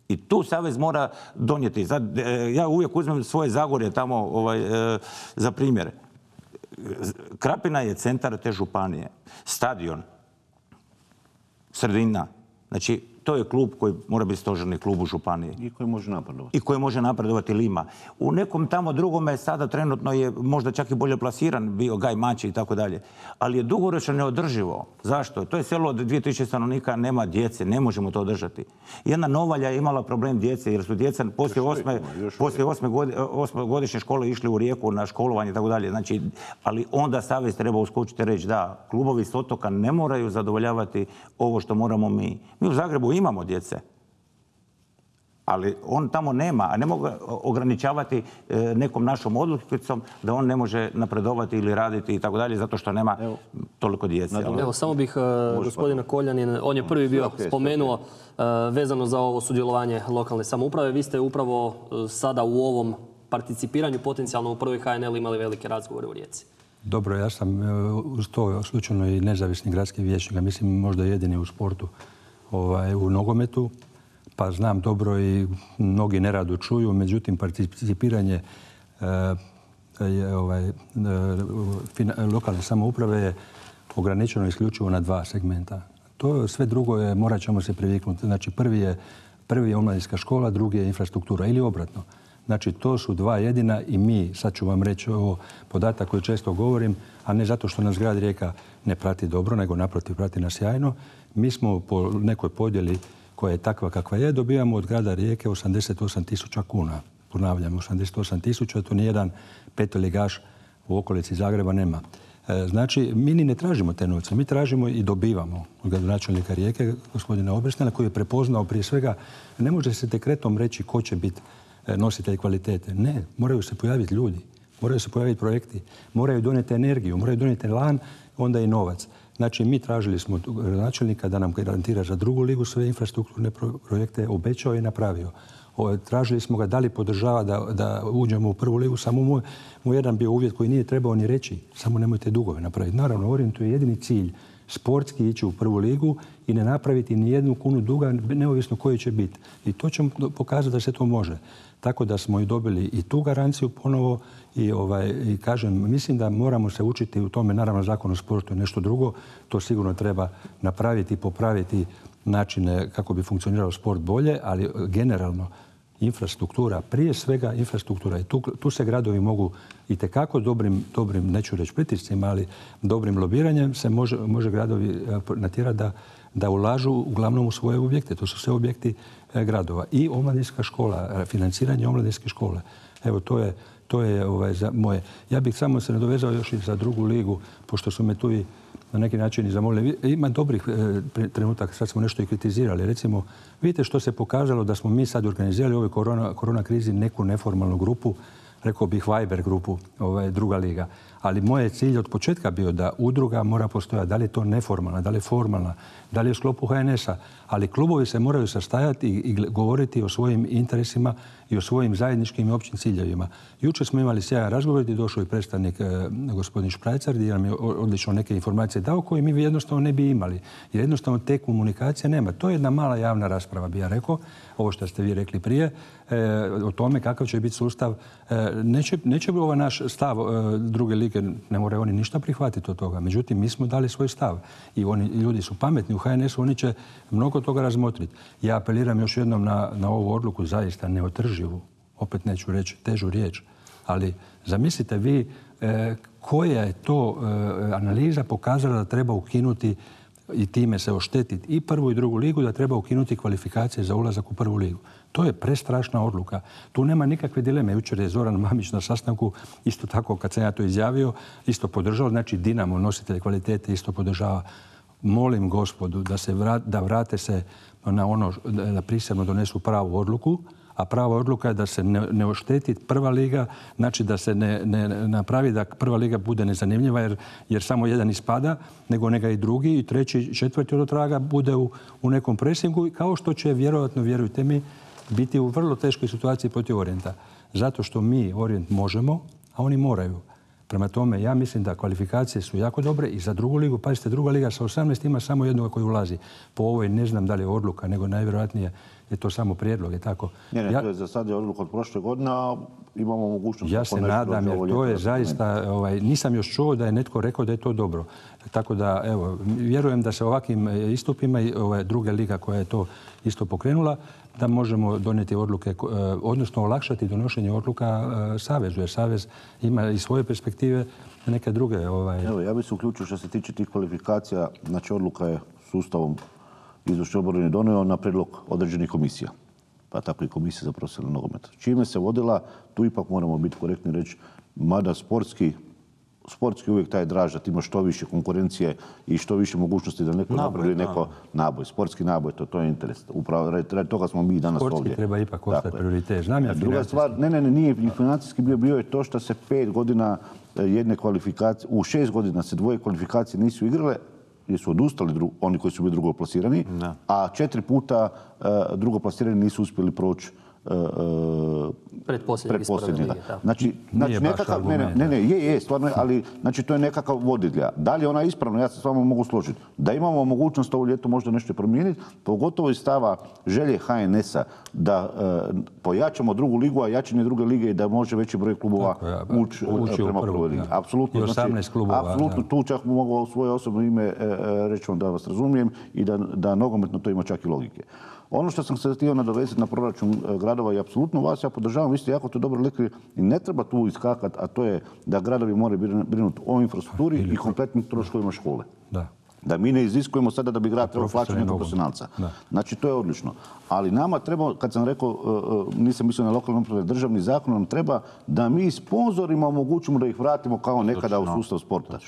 I tu Savez mora donijeti. Sad, ja uvijek uzmem svoje Zagorje tamo za primjer. Krapina je centar te županije. Stadion, sredina. Znači, to je klub koji mora biti stožerni klub u županiji. I koji može napredovati. I koji može napredovati Lima. U nekom tamo drugome sada trenutno je možda čak i bolje plasiran bio Gaj Mači i tako dalje. Ali je dugoročno neodrživo. Zašto? To je selo od 2000 stanovnika, nema djece, ne možemo to održati. Jedna Novalja je imala problem djece jer su djeca poslije 8. škole išli u Rijeku na školovanje i tako dalje. Znači, ali onda Savez treba uskočiti i reći da, klubovi s otoka ne moraju zadovoljavati ovo što moramo mi. Mi u Zagrebu imamo djece, ali on tamo nema, a ne mogu ograničavati nekom našom odlukicom da on ne može napredovati ili raditi i tako dalje, zato što nema toliko djece. Evo, samo bih gospodina Koljanin, on je prvi bio spomenuo vezano za ovo sudjelovanje lokalne samouprave. Vi ste upravo sada u ovom participiranju potencijalno u prvoj HNL imali velike razgovore u Rijeci. Dobro, ja sam uz to slučajno i nezavisni gradski vijećnik, mislim možda jedini u sportu u nogometu, pa znam dobro i mnogi nerado čuju, međutim participiranje lokalne samouprave je ograničeno isključivo na 2 segmenta. To sve drugo je, morat ćemo se priviknuti. Znači prvi je omladinska škola, drugi je infrastruktura ili obratno. Znači to su 2 jedina i mi, sad ću vam reći ovo podatak koji često govorim, a ne zato što nas grad Rijeka ne prati dobro, nego naprotiv prati nas sjajno. Mi smo po nekoj podjeli koja je takva kakva je, dobijamo od grada Rijeke 88.000 kuna. Ponavljam, 88.000, to nijedan petoligaš u okolici Zagreba nema. Znači, mi ni ne tražimo te novce, mi tražimo i dobivamo od gradonačelnika Rijeke, gospodina Obersnela, koji je prepoznao prije svega, ne može se dekretom reći ko će biti nositelj kvalitete. Ne, moraju se pojaviti ljudi, moraju se pojaviti projekti, moraju donijeti energiju, moraju donijeti lan, onda i novac. Znači, mi tražili smo gradonačelnika da nam garantira za drugu ligu sve infrastrukturne projekte, obećao i napravio. Tražili smo ga da li podržava da uđemo u prvu ligu, samo mu jedan bio uvjet koji nije trebao ni reći, samo nemojte dugove napraviti. Naravno, Orijentu je jedini cilj sportski ići u prvu ligu i ne napraviti ni 1 kunu duga, neovisno koji će biti. I to ćemo pokazati da se to može. Tako da smo i dobili i tu garanciju ponovo i kažem, mislim da moramo se učiti u tome. Naravno, Zakon o sportu je nešto drugo. To sigurno treba napraviti i popraviti načine kako bi funkcionirao sport bolje, ali generalno infrastruktura, prije svega infrastruktura. I tu se gradovi mogu itekako dobrim, neću reći pritiscima, ali dobrim lobiranjem se može gradovi natjerati da ulažu uglavnom u svoje objekte. To su sve objekti gradova. I omladinska škola, financiranje omladinske škole. Evo, to je za moje. Ja bih samo se nadovezao još i za drugu ligu, pošto su me tu i na neki način i zamolili. Ima dobrih trenutaka, sad smo nešto i kritizirali. Recimo, vidite što se pokazalo da smo mi sad organizirali u ovoj korona krizi neku neformalnu grupu, rekao bih Viber grupu, druga liga. Ali moj je cilj od početka bio da udruga mora postojati. Da li je to neformalna, da li je formalna, da li je u sklopu HNS-a. Ali klubovi se moraju sastajati i govoriti o svojim interesima i o svojim zajedničkim i općim ciljevima. Jučer smo imali sjajan razgovor gdje je došao i predstavnik gospodin Šprajcar gdje nam je odlično neke informacije dao koje mi jednostavno ne bi imali. Jer jednostavno te komunikacije nema. To je jedna mala javna rasprava, bi ja rekao. Ovo što ste vi rekli prije, o tome kakav će biti sustav. Neće bi ovaj naš stav druge lige, ne moraju oni ništa prihvatiti od toga. Međutim, mi smo dali svoj stav. I ljudi su pametni u HNS-u, oni će mnogo toga razmotriti. Ja apeliram još jednom na ovu odluku, zaista neotrživu, opet neću reći težu riječ, ali zamislite vi koja je to analiza pokazala da treba ukinuti i time se oštetiti i prvu i drugu ligu, da treba ukinuti kvalifikacije za ulazak u prvu ligu. To je prestrašna odluka. Tu nema nikakve dileme. Jučer je Zoran Mamić na sastanku, isto tako kad sam ja to izjavio, isto podržao. Znači Dinamo, nositelj kvalitete, isto podržava. Molim gospodu da vrate se na ono, da prisilno donesu pravu odluku, a prava odluka je da se ne ošteti prva liga, znači da se ne napravi da prva liga bude nezanimljiva jer samo jedan ispada, nego neka i drugi i treći i četvrti od traga bude u nekom presingu, kao što će vjerojatno, vjerujte mi, biti u vrlo teškoj situaciji protiv Orijenta. Zato što mi Orijent možemo, a oni moraju. Prema tome, ja mislim da kvalifikacije su jako dobre i za drugu ligu. Pazite, druga liga sa 18 ima samo jednoga koji ulazi. Po ovoj ne znam da li je odluka, nego najvjerojatnije je to samo prijedlog. Je tako? Ne, to je za sad je odluka od prošle godine, a imamo mogućnost... Ja se nadam, jer to je zaista... Nisam još čuo da je netko rekao da je to dobro. Tako da, evo, vjerujem da se ovakvim istupima i druga liga koja je to isto pokrenula, da možemo donijeti odluke, odnosno olakšati donošenje odluka Savezu, jer Savez ima i svoje perspektive, neke druge. Evo, ja bih se uključio što se tiče tih kvalifikacija, znači odluka je sustavom izvršne obrane donio na prijedlog određenih komisija, pa tako i komisija za profesionalni nogomet. Čime se vodila, tu ipak moramo biti korektni reći, mada sportski uvijek taj draž, da ti imaš što više konkurencije i što više mogućnosti da neko napravi neko naboj. Sportski naboj, to je interes. Upravo radi toga smo mi danas ovdje. Sportski treba ipak ostati prioritet. Znam ja druga stvar, nije financijski bio je to što se 5 godina jedne kvalifikacije, u 6 godina se 2 kvalifikacije nisu igrale, jer su odustali oni koji su bili drugoplasirani, a 4 puta drugoplasirani nisu uspjeli proći pretposljednji. Znači nekakav, je, stvarno je, ali znači to je nekakav vodilja. Da li je ona ispravna, ja se s vama mogu složiti. Da imamo mogućnost ovo ljeto možda nešto promijeniti, pogotovo iz stava želje HNS-a da pojačamo drugu ligu, a jačanje druge lige i da može veći broj klubova ući prema prvoj ligi. Apsolutno. I 18 klubova. Apsolutno, tu čak mogu u svoje osobno ime reći vam da vas razumijem i da nogometno to ima čak i logike. Ono što sam se htio nadovezati na proračun gradova i apsolutno vas ja podržavam, vi ste jako to dobro rekli i ne treba tu iskakati, a to je da gradovi moraju brinuti o infrastrukturi i kompletnim troškovima škole. Da mi ne iziskujemo sada da bi grad trebao plaćati nekog profesionalca. Znači, to je odlično. Ali nama treba, kad sam rekao, nisam mislio na lokalne uprave, državni zakon nam treba da mi sponzorima omogućimo da ih vratimo kao nekada u sustav sporta.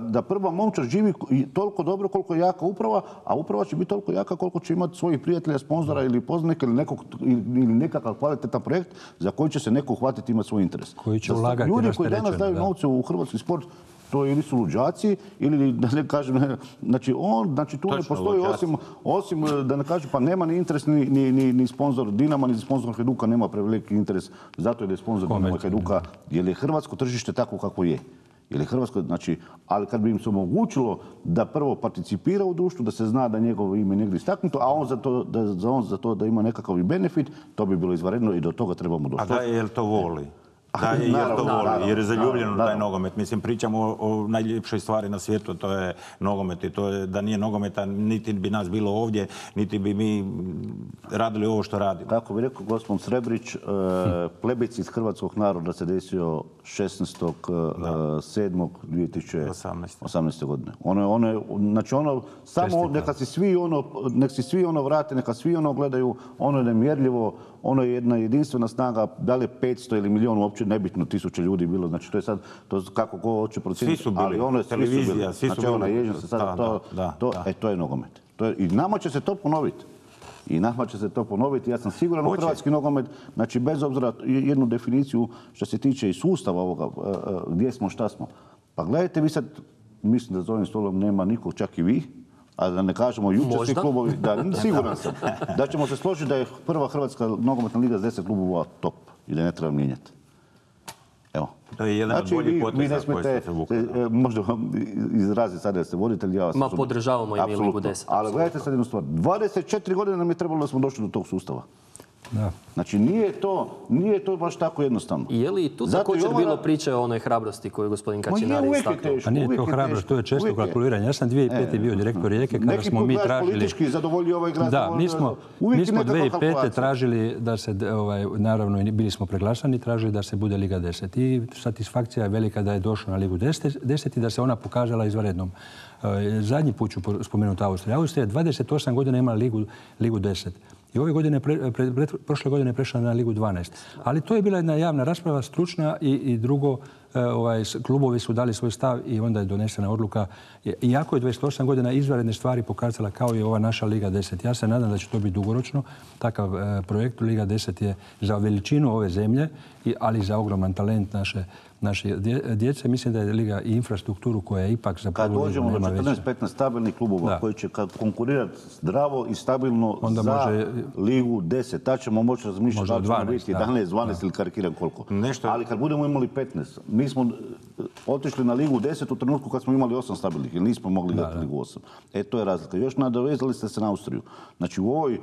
Da prva momčad živi toliko dobro koliko je jaka uprava, a uprava će biti toliko jaka koliko će imati svojih prijatelja, sponzora ili poznanika ili nekakav kvalitetan projekt za koji će se neko uhvatiti imati svoj interes. Koji će ulagati. Ljudi koji danas daju novce u hrvatski sport, to ili su luđaci ili da ne kažem, znači tu ne postoji osim da ne kažem pa nema ni interes ni sponzor Dinama ni sponzor Hajduka nema preveliki interes zato jer je sponzor Dinama Hajduka jer je hrvatsko tržište tako kako je. Ali kad bi im se omogućilo da prvo participira u društvu, da se zna da njegovo ime negdje istaknuto, a on za to da ima nekakav i benefit, to bi bilo izvanredno i do toga trebamo doći. A da je li to voli? Da, jer to voli, jer je zaljubljen u taj nogomet. Mislim, pričamo o najljepšoj stvari na svijetu, to je nogomet i to je da nije nogometa, niti bi nas bilo ovdje, niti bi mi radili ovo što radimo. Kako bi rekao gospodin Srebrić, plebiscit hrvatskog naroda se desio 16.7.2018. godine. Znači samo neka si svi vrate, neka svi vrate, ono je nemjerljivo, ono je jedna jedinstvena snaga, da li je 500 ili milijun, uopće nebitno, 1000 ljudi bilo, znači to je sad, to kako ko hoće procijeniti. Svi su bili, televizija, svi su bili. To je nogomet. I nama će se to ponoviti. I nama će se to ponoviti. Ja sam siguran u hrvatski nogomet, znači bez obzira jednu definiciju što se tiče i sustava ovoga, gdje smo, šta smo. Pa gledajte, vi sad, mislim da za ovim stolom nema nikog, čak i vi, a da ne kažemo jučer svi klubovi, siguran sam, da ćemo se složiti da je prva Hrvatska nogometna liga s 10 klubova top i da ne treba mijenjati. Evo. To je jedan od boljih poteza koji ste se vukli. Možda vam izraziti sada da ste voditelj, ja vas Ma podržavamo i mi Ligu 10. Ali gledajte sad jednu stvar. 24 godine nam je trebalo da smo došli do tog sustava. Da. Znači nije to baš tako jednostavno. Je li tu također bilo priče o onoj hrabrosti koju je gospodin Kačinari istaknuo? Pa nije to hrabrost, to je često kalkuliranje. Ja sam 2005. bio direktor Rijeke kada smo mi tražili... politički zadovoljio ovaj grad. Da, mi smo 2005. tražili da se, naravno bili smo preglasani, tražili da se bude Liga 10. I satisfakcija je velika da je došlo na Ligu 10 i da se ona pokazala izvanrednom. Zadnji put ću spomenuti Austriju. Austrija je 28 godina imala Ligu 10. I ove godine, prošle godine je prešla na Ligu 12. Ali to je bila jedna javna rasprava, stručna i drugo, klubovi su dali svoj stav i onda je donesena odluka. Iako je 28 godina izvanredne stvari pokazala kao i ova naša Liga 10. Ja se nadam da će to biti dugoročno. Takav projekt Liga 10 je za veličinu ove zemlje, ali za ogroman talent naše djece. Mislim da je Liga i infrastrukturu koja je ipak za prvu ligu nema veća. Kad dođemo do 14-15 stabilnih klubova koji će konkurirati zdravo i stabilno za Ligu 10, tad ćemo moći razmišljati da li ćemo biti 11, 12 ili karikiram koliko. Ali kad budemo imali 15, mi smo otišli na Ligu 10 u trenutku kad smo imali 8 stabilnih, jer nismo mogli dati Ligu 8. To je razlika. Još nadovezali ste se na Austriju. Znači u ovoj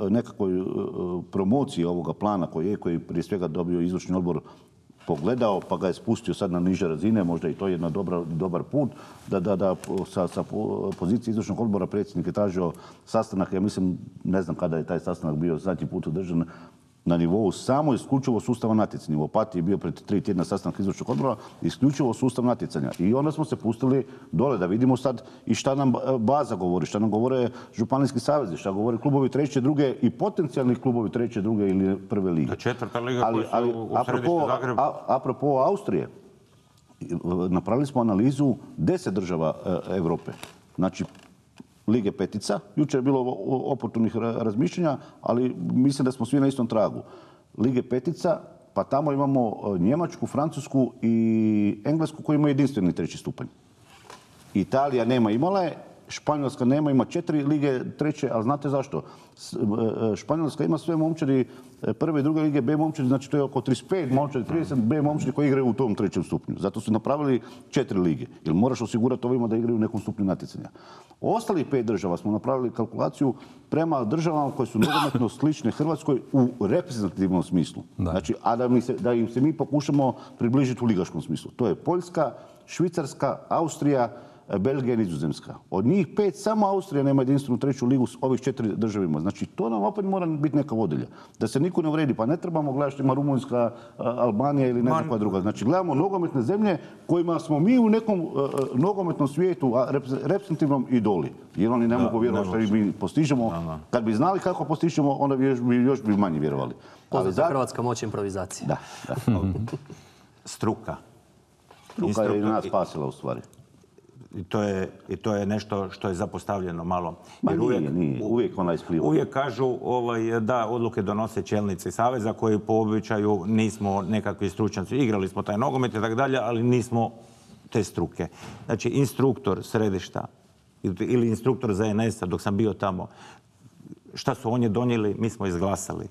nekakvoj promociji ovoga plana koji prije svega dobio izvršni odbor pogledao pa ga je spustio sad na niže razine, možda i to je jedan dobar put, da sa pozicije izvršnog odbora predsjednik je tražio sastanak, ja mislim, ne znam kada je taj sastanak bio zadnji put održan, na nivou samo isključivo sustava natjecanja. U Opatiji je bio pred 3 tjedna sastanak izvršnog odbora, isključivo sustav natjecanja. I onda smo se pustili dole da vidimo sad i šta nam baza govori, šta nam govore županijski savezi, šta govore klubovi treće, druge i potencijalni klubovi treće, druge ili prve lige. Četvrta liga koja su u središtu Zagreba. Apropo Austrije, napravili smo analizu 10 država Europe. Znači, Lige petica. Jučer je bilo oportunih razmišljanja, ali mislim da smo svi na istom tragu. Lige petica, pa tamo imamo Njemačku, Francusku i Englesku koji imaju jedinstveni treći stupanj. Italija nema, imala je, Španjolska nema, ima 4 lige treće, ali znate zašto? Španjolska ima sve momčadi prve i druge lige B momčadi, znači to je oko 35 momčadi, 30 B momčadi koji igraju u tom trećem stupnju. Zato su napravili 4 lige, jer moraš osigurati ovima da igraju u nekom stupnju natjecanja. Ostalih 5 država smo napravili kalkulaciju prema državama koje su nogometno slične Hrvatskoj u reprezentativnom smislu. Znači, a da im se mi pokušamo približiti u ligaškom smislu. To je Poljska, Švicarska, Austrija, Belgija i Nizozemska. Od njih 5 samo Austrija nema jedinstvenu treću ligu s ovih 4 državima. Znači, to nam opet mora biti neka vodilja. Da se niko ne uvredi. Pa ne trebamo gledati što ima Rumunjska, Albanija ili nekakva druga. Znači, gledamo nogometne zemlje kojima smo mi u nekom nogometnom svijetu, reprezentativnom idoli. Jer oni ne mogu vjerovati što mi postižemo. Kad bi znali kako postižemo, onda bi još manje vjerovali. Poznata hrvatska moć improvizacije. Da. Struka. Struka je i nas spasila u stvari. I to je nešto što je zapostavljeno malo. Nije. Uvijek ona ispliva. Uvijek kažu da odluke donose čelnici saveza koji po običaju nismo nekakvi stručnjaci. Igrali smo taj nogomet i tako dalje, ali nismo te struke. Znači, instruktor središta ili instruktor ZNS-a dok sam bio tamo, šta su oni donijeli, mi smo izglasali.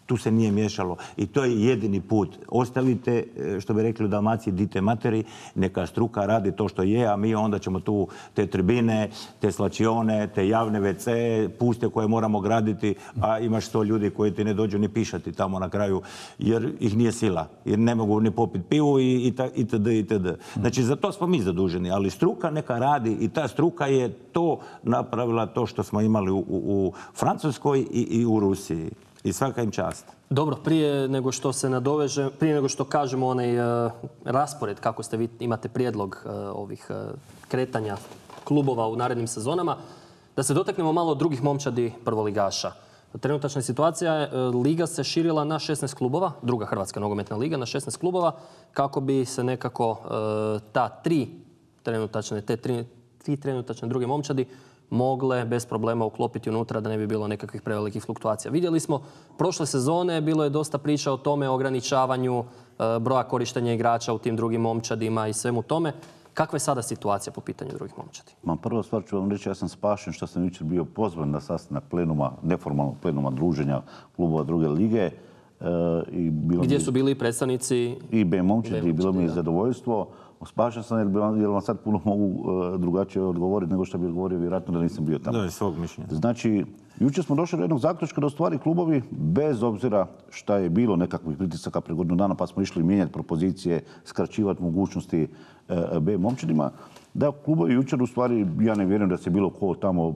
Tu se nije miješalo i to je jedini put. Ostavite, što bi rekli u Dalmaciji, dite materi, neka struka radi to što je, a mi onda ćemo tu te tribine, te slačione, te javne WC, puste koje moramo graditi, a imaš 100 ljudi koji ti ne dođu ni pišati tamo na kraju, jer ih nije sila, jer ne mogu ni popiti pivu itd. Znači, za to smo mi zaduženi, ali struka neka radi i ta struka je to napravila to što smo imali u Francuskoj i u Rusiji. I svaka im čast. Dobro, prije nego što se nadoveže, prije nego što kažemo onaj raspored, kako ste vi imate prijedlog ovih kretanja klubova u narednim sezonama, da se dotaknemo malo drugih momčadi prvoligaša. Trenutačna situacija je, liga se širila na 16 klubova, druga Hrvatska nogometna liga na 16 klubova, kako bi se nekako tri trenutačne druge momčadi mogle bez problema uklopiti unutra da ne bi bilo nekakvih prevelikih fluktuacija. Vidjeli smo prošle sezone, bilo je dosta priča o tome, o ograničavanju broja korištenja igrača u tim drugim momčadima i svemu tome. Kakva je sada situacija po pitanju drugih momčadi? Prva stvar ću vam reći, ja sam spašen što sam jučer bio pozvan na sastanak plenuma, neformalnog plenuma druženja klubova druge lige. Gdje su bili predstavnici i B momčadi i bilo mi je zadovoljstvo. Spašen sam jer vam sad puno mogu drugačije odgovoriti nego što bi odgovorio vjerojatno da nisam bio tamo. Da, je svog mišljenja. Znači, jučer smo došli do jednog zaključka da u stvari klubovi, bez obzira šta je bilo nekakvih pritisaka pre godinu dana, pa smo išli mijenjati propozicije, skraćivati mogućnosti B momčadima, da klubovi jučer u stvari, ja ne vjerujem da se bilo ko tamo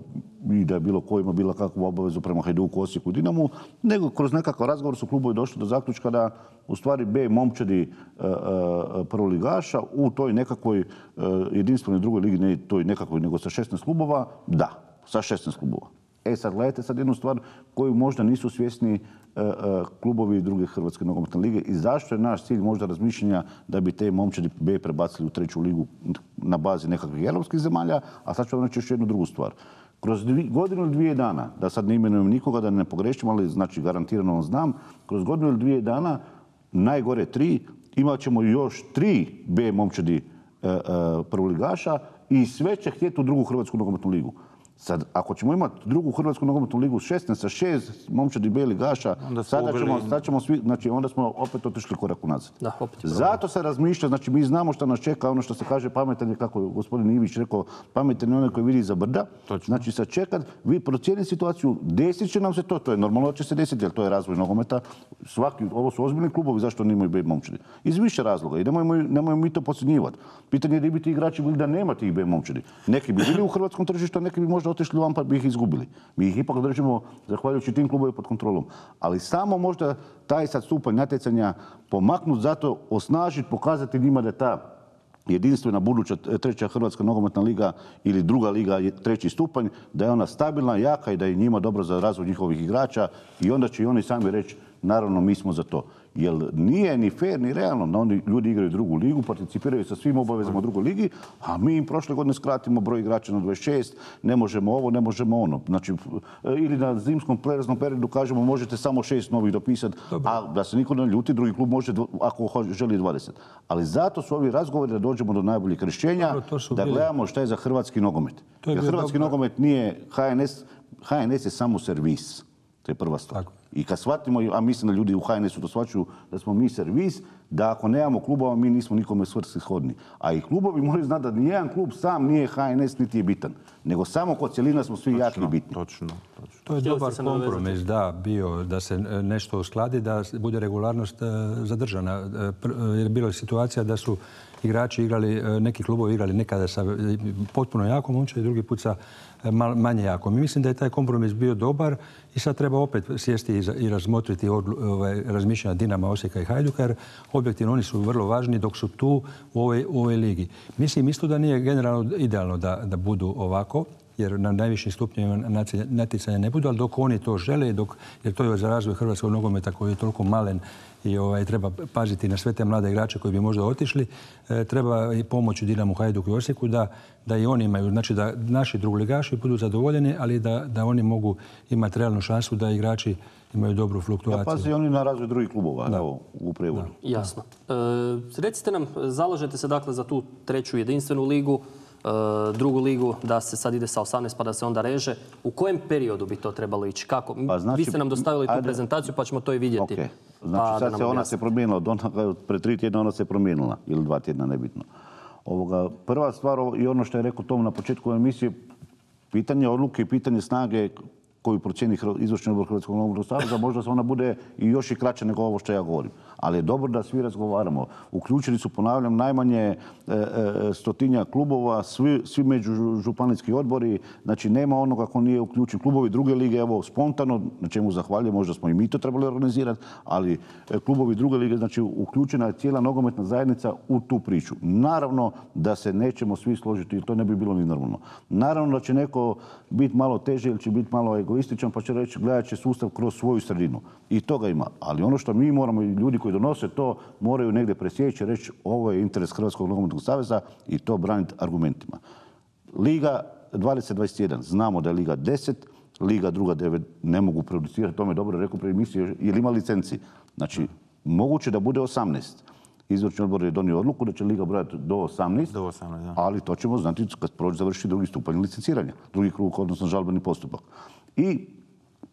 i da je bilo ko ima bilo kakvu obavezu prema Hajduku, Osijeku i Dinamu, nego kroz nekakav razgovor su klubovi došli do zaključka da u stvari B momčadi prvoligaša u toj nekakvoj jedinstvenoj drugoj ligi, ne toj nekakvoj, nego sa 16 klubova, da, sa 16 klubova. Sad gledajte sad jednu stvar koju možda nisu svjesni klubovi druge Hrvatske nogometne lige i zašto je naš cilj možda razmišljanja da bi te momčadi B prebacili u treću ligu na bazi nekakvih europskih zemalja, a sad ću vam reći još jednu drugu stvar. Kroz godinu ili dvije dana, da sad ne imenujem nikoga, da ne pogrešim, ali znači garantirano vam znam, kroz godinu ili dvije dana, najgore 3, imat ćemo još 3 B momčadi prvoligaša i sve će htjeti u drugu Hrvatsku nogometnu ligu. Sad, ako ćemo imati drugu Hrvatsku nogometnu ligu 16 sa 6 momčadi B ligaša, sad ćemo svi, znači onda smo opet otišli korak unazad. Zato se razmišlja, znači mi znamo što nas čeka, ono što se kaže pametan je, kako je gospodin Ivić rekao, pametan je onaj koji vidi za brda. Znači sad čekat, vi procijenite situaciju, desit će nam se to je normalno da će se desiti, jer to je razvoj nogometa. Ovo su ozbiljni klubovi, zašto nemaju B momčadi? Iz više razloga i nemojmo mi to podcjenjivati. Pitanje je da bi ti igrači bili da nema tih B momčadi. Neki bi bili u hrvatskom tržištu, a neki bi možda otišli van pa bi ih izgubili. Mi ih ipak držimo, zahvaljujući tim klubovima, pod kontrolom. Ali samo možda taj sad stupanj natjecanja pomaknuti, zato osnažiti, pokazati njima da je ta jedinstvena buduća treća Hrvatska nogometna liga ili druga liga, treći stupanj, da je ona stabilna, jaka i da je njima dobro za razvoj njihovih igrača i onda će i oni sami reći, naravno mi smo za to. Jer nije ni fair ni realno da oni ljudi igraju drugu ligu, participiraju sa svim obavezama u drugoj ligi, a mi im prošle godine skratimo broj igrača na 26, ne možemo ovo, ne možemo ono. Znači, ili na zimskom prelaznom periodu kažemo možete samo 6 novih dopisati, a da se niko ne ljuti, drugi klub može ako želi 20. Ali zato su ovi razgovori da dođemo do najboljih rješenja, da gledamo šta je za hrvatski nogomet. Jer hrvatski nogomet nije HNS, HNS je samo servis. To je prva stvar. I kad shvatimo, a mislim da ljudi u HNS-u to shvaćaju, da smo mi servis, da ako nemamo klubova, mi nismo nikome svrsishodni. A i klubovi moraju znati da nijedan klub sam nije HNS niti je bitan. Nego samo kod cjelina smo svi jaki i bitni. Točno. To je dobar kompromis, bio da se nešto uskladi, da bude regularnost zadržana. Jer bilo je situacija da su igrači igrali, neki klubovi igrali nekada sa potpuno jakom momčadi, drugi put sa manje jakom. I mislim da je taj kompromis bio dobar i sad treba opet sjesti i razmotriti razmišljanja Dinama, Osijeka i Hajduka, jer objektivno oni su vrlo važni dok su tu u ovoj ligi. Mislim isto da nije generalno idealno da budu ovako, jer na najvišim stupnjevima natjecanja ne budu, ali dok oni to žele, jer to je za razvoj hrvatskog nogometa koji je toliko malen i treba paziti na sve te mlade igrače koji bi možda otišli, treba i pomoći Dinamu, Hajduku i Osijeku da i oni imaju, znači da naši drugoligaši budu zadovoljeni, ali da oni mogu imati realnu šansu da igrači imaju dobru fluktuaciju. Da pazi oni na razvoj drugih klubova u prevodu. Jasno. Recite nam, zalažete se dakle za tu treću jedinstvenu ligu, drugu ligu, da se sad ide sa 18 pa da se onda reže. U kojem periodu bi to trebalo ići? Kako? Vi ste nam dostavili tu prezentaciju pa ćemo to i vidjeti. Znači sad se ona se promijenila, pre 3 tjedna ona se promijenila, ili 2 tjedna, nebitno. Prva stvar i ono što je rekao Tom na početku emisije, pitanje odluke i pitanje snage koju procijeni izvršni odbor Hrvatskog nogometnog saveza, možda se ona bude i još i kraća nego ovo što ja govorim. Ali je dobro da svi razgovaramo. Uključeni su, ponavljam, najmanje 100-tinjak klubova, svi međužupanijski odbori. Znači, nema onoga ko nije uključen. Klubovi druge lige, evo, spontano, na čemu zahvaljujem, možda smo i mi to trebali organizirati, ali klubovi druge lige, znači, uključena je cijela nogometna zajednica u tu priču. Naravno da se nećemo svi složiti, jer to ne bi bilo ni normalno. Naravno da će neko biti malo teže ili će biti malo egoističan, pa će reći gledat će sustav kroz svoju sredinu. I toga ima. Ali ono što mi moramo, i ljudi koji donose to, moraju negdje presjeći, reći ovo je interes Hrvatskog nogometnog saveza i to braniti argumentima. Liga 20-21. Znamo da je Liga 10, Liga druga 9 ne mogu producirati, to me dobro rekao prije emisije, jer ima licenciji. Znači, moguće da bude 18. Izvršni odbor je donio odluku da će Liga brojati do 18, da. ali to ćemo znati kad završi drugi stupanj licenciranja, drugi krug, odnosno žalbeni postupak. I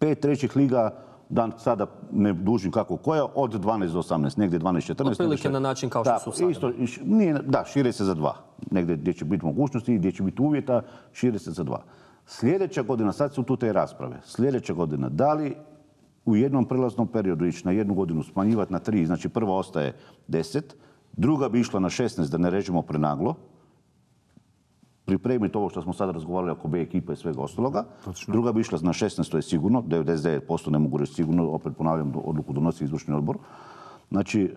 5 trećih liga, da sada ne dužim kako koja, od 12 do 18, negdje 12-14. Otprilike na način kao što su sada. Da, šire se za 2. Negdje gdje će biti mogućnosti, gdje će biti uvjeta, šire se za 2. Sljedeća godina, sad su tu te rasprave, sljedeća godina, da li u jednom prelaznom periodu ići na 1 godinu smanjivati na 3, znači prva ostaje 10, druga bi išla na 16 da ne režemo prenaglo, pripremiti ovo što smo sad razgovarali oko B ekipa i svega ostaloga. Točno. Druga bi išla na 16, to je sigurno, 99% ne mogu reći sigurno, opet ponavljam, odluku donosi izvršni odbor. Znači,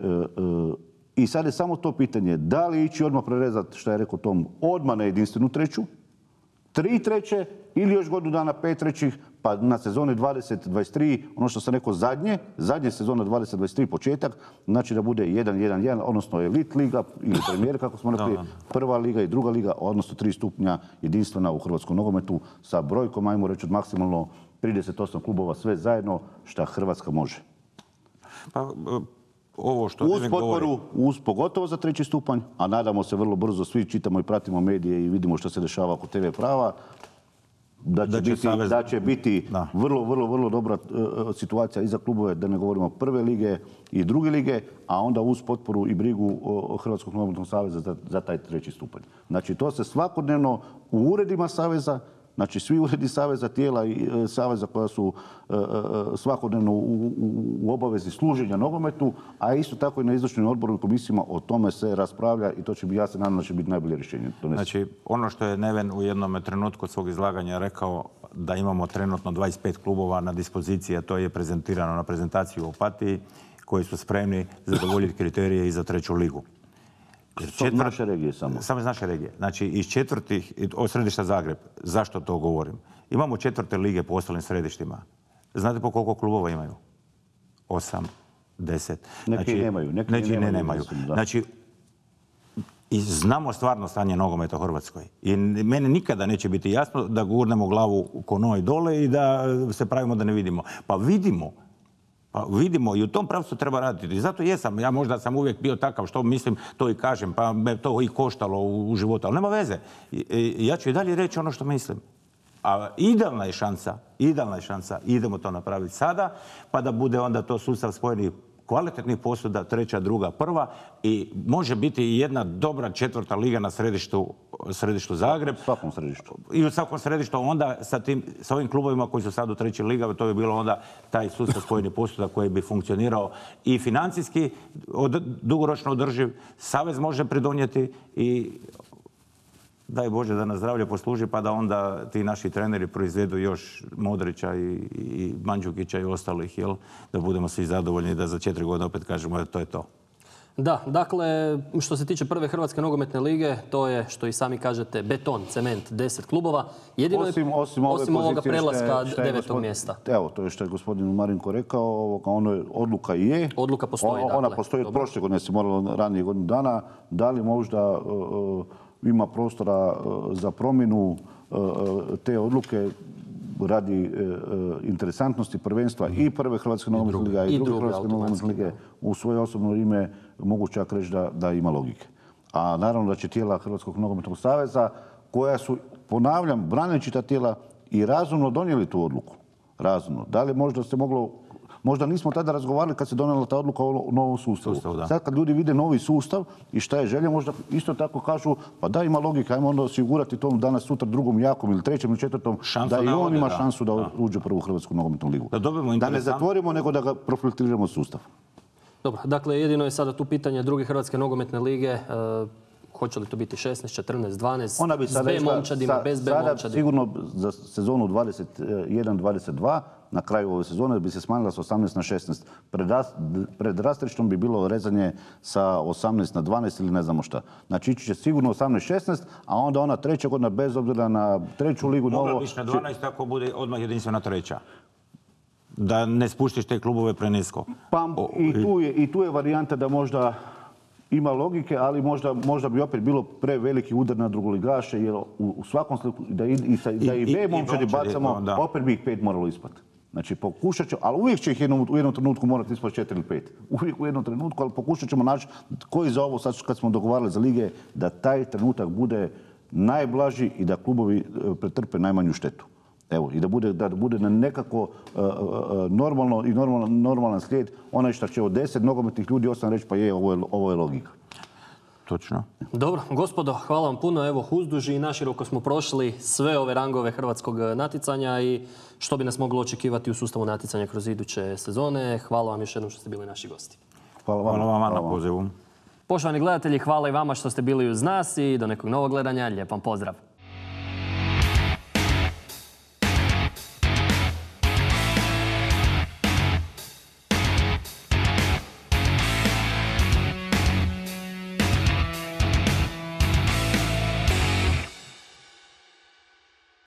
i sad je samo to pitanje, da li ići odmah prerezati, što je rekao Tom, odmah na jedinstvenu treću, 3 treće ili još godinu dana 5 trećih, pa na sezoni 20-23, ono što sam rekao zadnje sezona 20-23 početak, znači da bude 1-1-1, odnosno Elite liga ili premijer, kako smo rekli, prva liga i druga liga, odnosno 3 stupnja jedinstvena u hrvatskom nogometu sa brojkom, ajmo reći, od maksimalno 38 klubova, sve zajedno, šta Hrvatska može. Pa, ovo što uz potporu, uz pogotovo za 3. stupanj, a nadamo se vrlo brzo, svi čitamo i pratimo medije i vidimo što se dešava oko TV prava, da će biti vrlo dobra situacija i za klubove, da ne govorimo prve lige i druge lige, a onda uz potporu i brigu Hrvatskog nogometnog saveza za taj 3. stupanj. Znači, to se svakodnevno u uredima saveza, znači svi uredi saveza, tijela i saveza koja su svakodnevno u obavezi služenja nogometu, a isto tako i na izvršnim odboru i komisijama o tome se raspravlja i to će biti, ja se nadam da će biti najbolje rješenje. Znači, ono što je Neven u jednom trenutku svog izlaganja rekao, da imamo trenutno 25 klubova na dispoziciji, a to je prezentirano na prezentaciji u Opatiji, koji su spremni zadovoljiti kriterije i za 3. ligu. Naše regije samo. Samo iz naše regije. Znači, iz 4. od središta Zagreb. Zašto to govorim? Imamo 4. lige po ostalim središtima. Znate po koliko klubova imaju? 8, 10. Neki nemaju. Neki ne nemaju. Znači, i znamo stvarno stanje nogometa u Hrvatskoj. I meni nikada neće biti jasno da gurnemo glavu ko noj dole i da se pravimo da ne vidimo. Pa vidimo i u tom pravcu treba raditi. I zato jesam, ja možda sam uvijek bio takav što mislim, to i kažem, pa me to i koštalo u životu, ali nema veze. Ja ću i dalje reći ono što mislim. A idealna je šansa, idemo to napraviti sada, pa da bude onda to sustav spojenih kvalitetnih posuda, 3., 2., 1. i može biti i jedna dobra 4. liga na središtu Zagreb. U svakom središtu. I u svakom središtu onda sa ovim klubovima koji su sad u 3. liga, to bi bilo onda taj sustav spojenih posuda koji bi funkcionirao i financijski dugoročno održiv. Savez može pridonijeti i daj Bože da nas zdravlje posluži pa da onda ti naši treneri proizvedu još Modrića i Mandžukića i ostalih, jel? Da budemo svi zadovoljni i da za 4 godine opet kažemo to je to. Da, dakle, što se tiče prve Hrvatske nogometne lige, to je, što i sami kažete, beton, cement, 10 klubova. Jedino osim ovoga prelaska 9. mjesta. Evo, to je što je gospodin Marinko rekao, odluka je. Odluka postoji, dakle. Ona postoji od prošle godine, se moralo ranije godinu dana. Da li možda ima prostora za promjenu te odluke radi interesantnosti prvenstva i prve Hrvatske nogometne lige i druge Hrvatske nogometne lige u svoje osobno ime mogu čak reći da ima logike. A naravno da će tijela Hrvatskog nogometnog saveza koja su, ponavljam, braneći ta tijela i razumno donijeli tu odluku. Razumno. Da li možda se moglo, možda nismo tada razgovarali kad se donijela ta odluka o novom sustavu. Sad kad ljudi vide novi sustav i šta je želja, možda isto tako kažu pa da ima logika, ajmo onda osigurati tom danas sutra 2. jakom ili 3. ili 4. da i on ima šansu da uđe u prvu Hrvatsku nogometnu ligu. Da ne zatvorimo, nego da ga profiltriramo sustav. Dobro, dakle jedino je sada tu pitanje druge Hrvatske nogometne lige. Hoće li to biti 16, 14, 12, ona bi s B momčadima, bez B momčadima? Sada sigurno za sezonu 21-22, na kraju ove sezone bi se smanjila s 18 na 16. Pred rastrištom bi bilo rezanje sa 18 na 12 ili ne znamo šta. Znači ići će sigurno 18-16, a onda ona 3. godina bez obzira na 3. ligu. Mogla biš na 12 ako bude odmah jedinstvena 3. Da ne spuštiš te klubove prenisko. Pa i tu je varijanta da možda ima logike, ali možda bi opet bilo preveliki udar na drugoligaše, jer u svakom slučaju da i B momčadi bacamo, opet bi ih 5 moralo ispati. Znači pokušat ćemo, ali uvijek će ih u jednom trenutku morati ispati 4 ili 5. Uvijek u jednom trenutku, ali pokušat ćemo naći koji za ovo, sad kad smo dogovarali za lige, da taj trenutak bude najblaži i da klubovi pretrpe najmanju štetu. Evo, i da bude na nekako normalno i normalan slijed, onaj što će od 10 nogometnih ljudi 8 reći pa je, ovo je logika. Točno. Dobro, gospodo, hvala vam puno. Evo, uzduži i naširoko smo prošli sve ove rangove hrvatskog natjecanja i što bi nas moglo očekivati u sustavu natjecanja kroz iduće sezone. Hvala vam još jednom što ste bili naši gosti. Hvala vam na pozivu. Poštovani gledatelji, hvala i vama što ste bili uz nas i do nekog novog gledanja. Lijep vam pozdrav.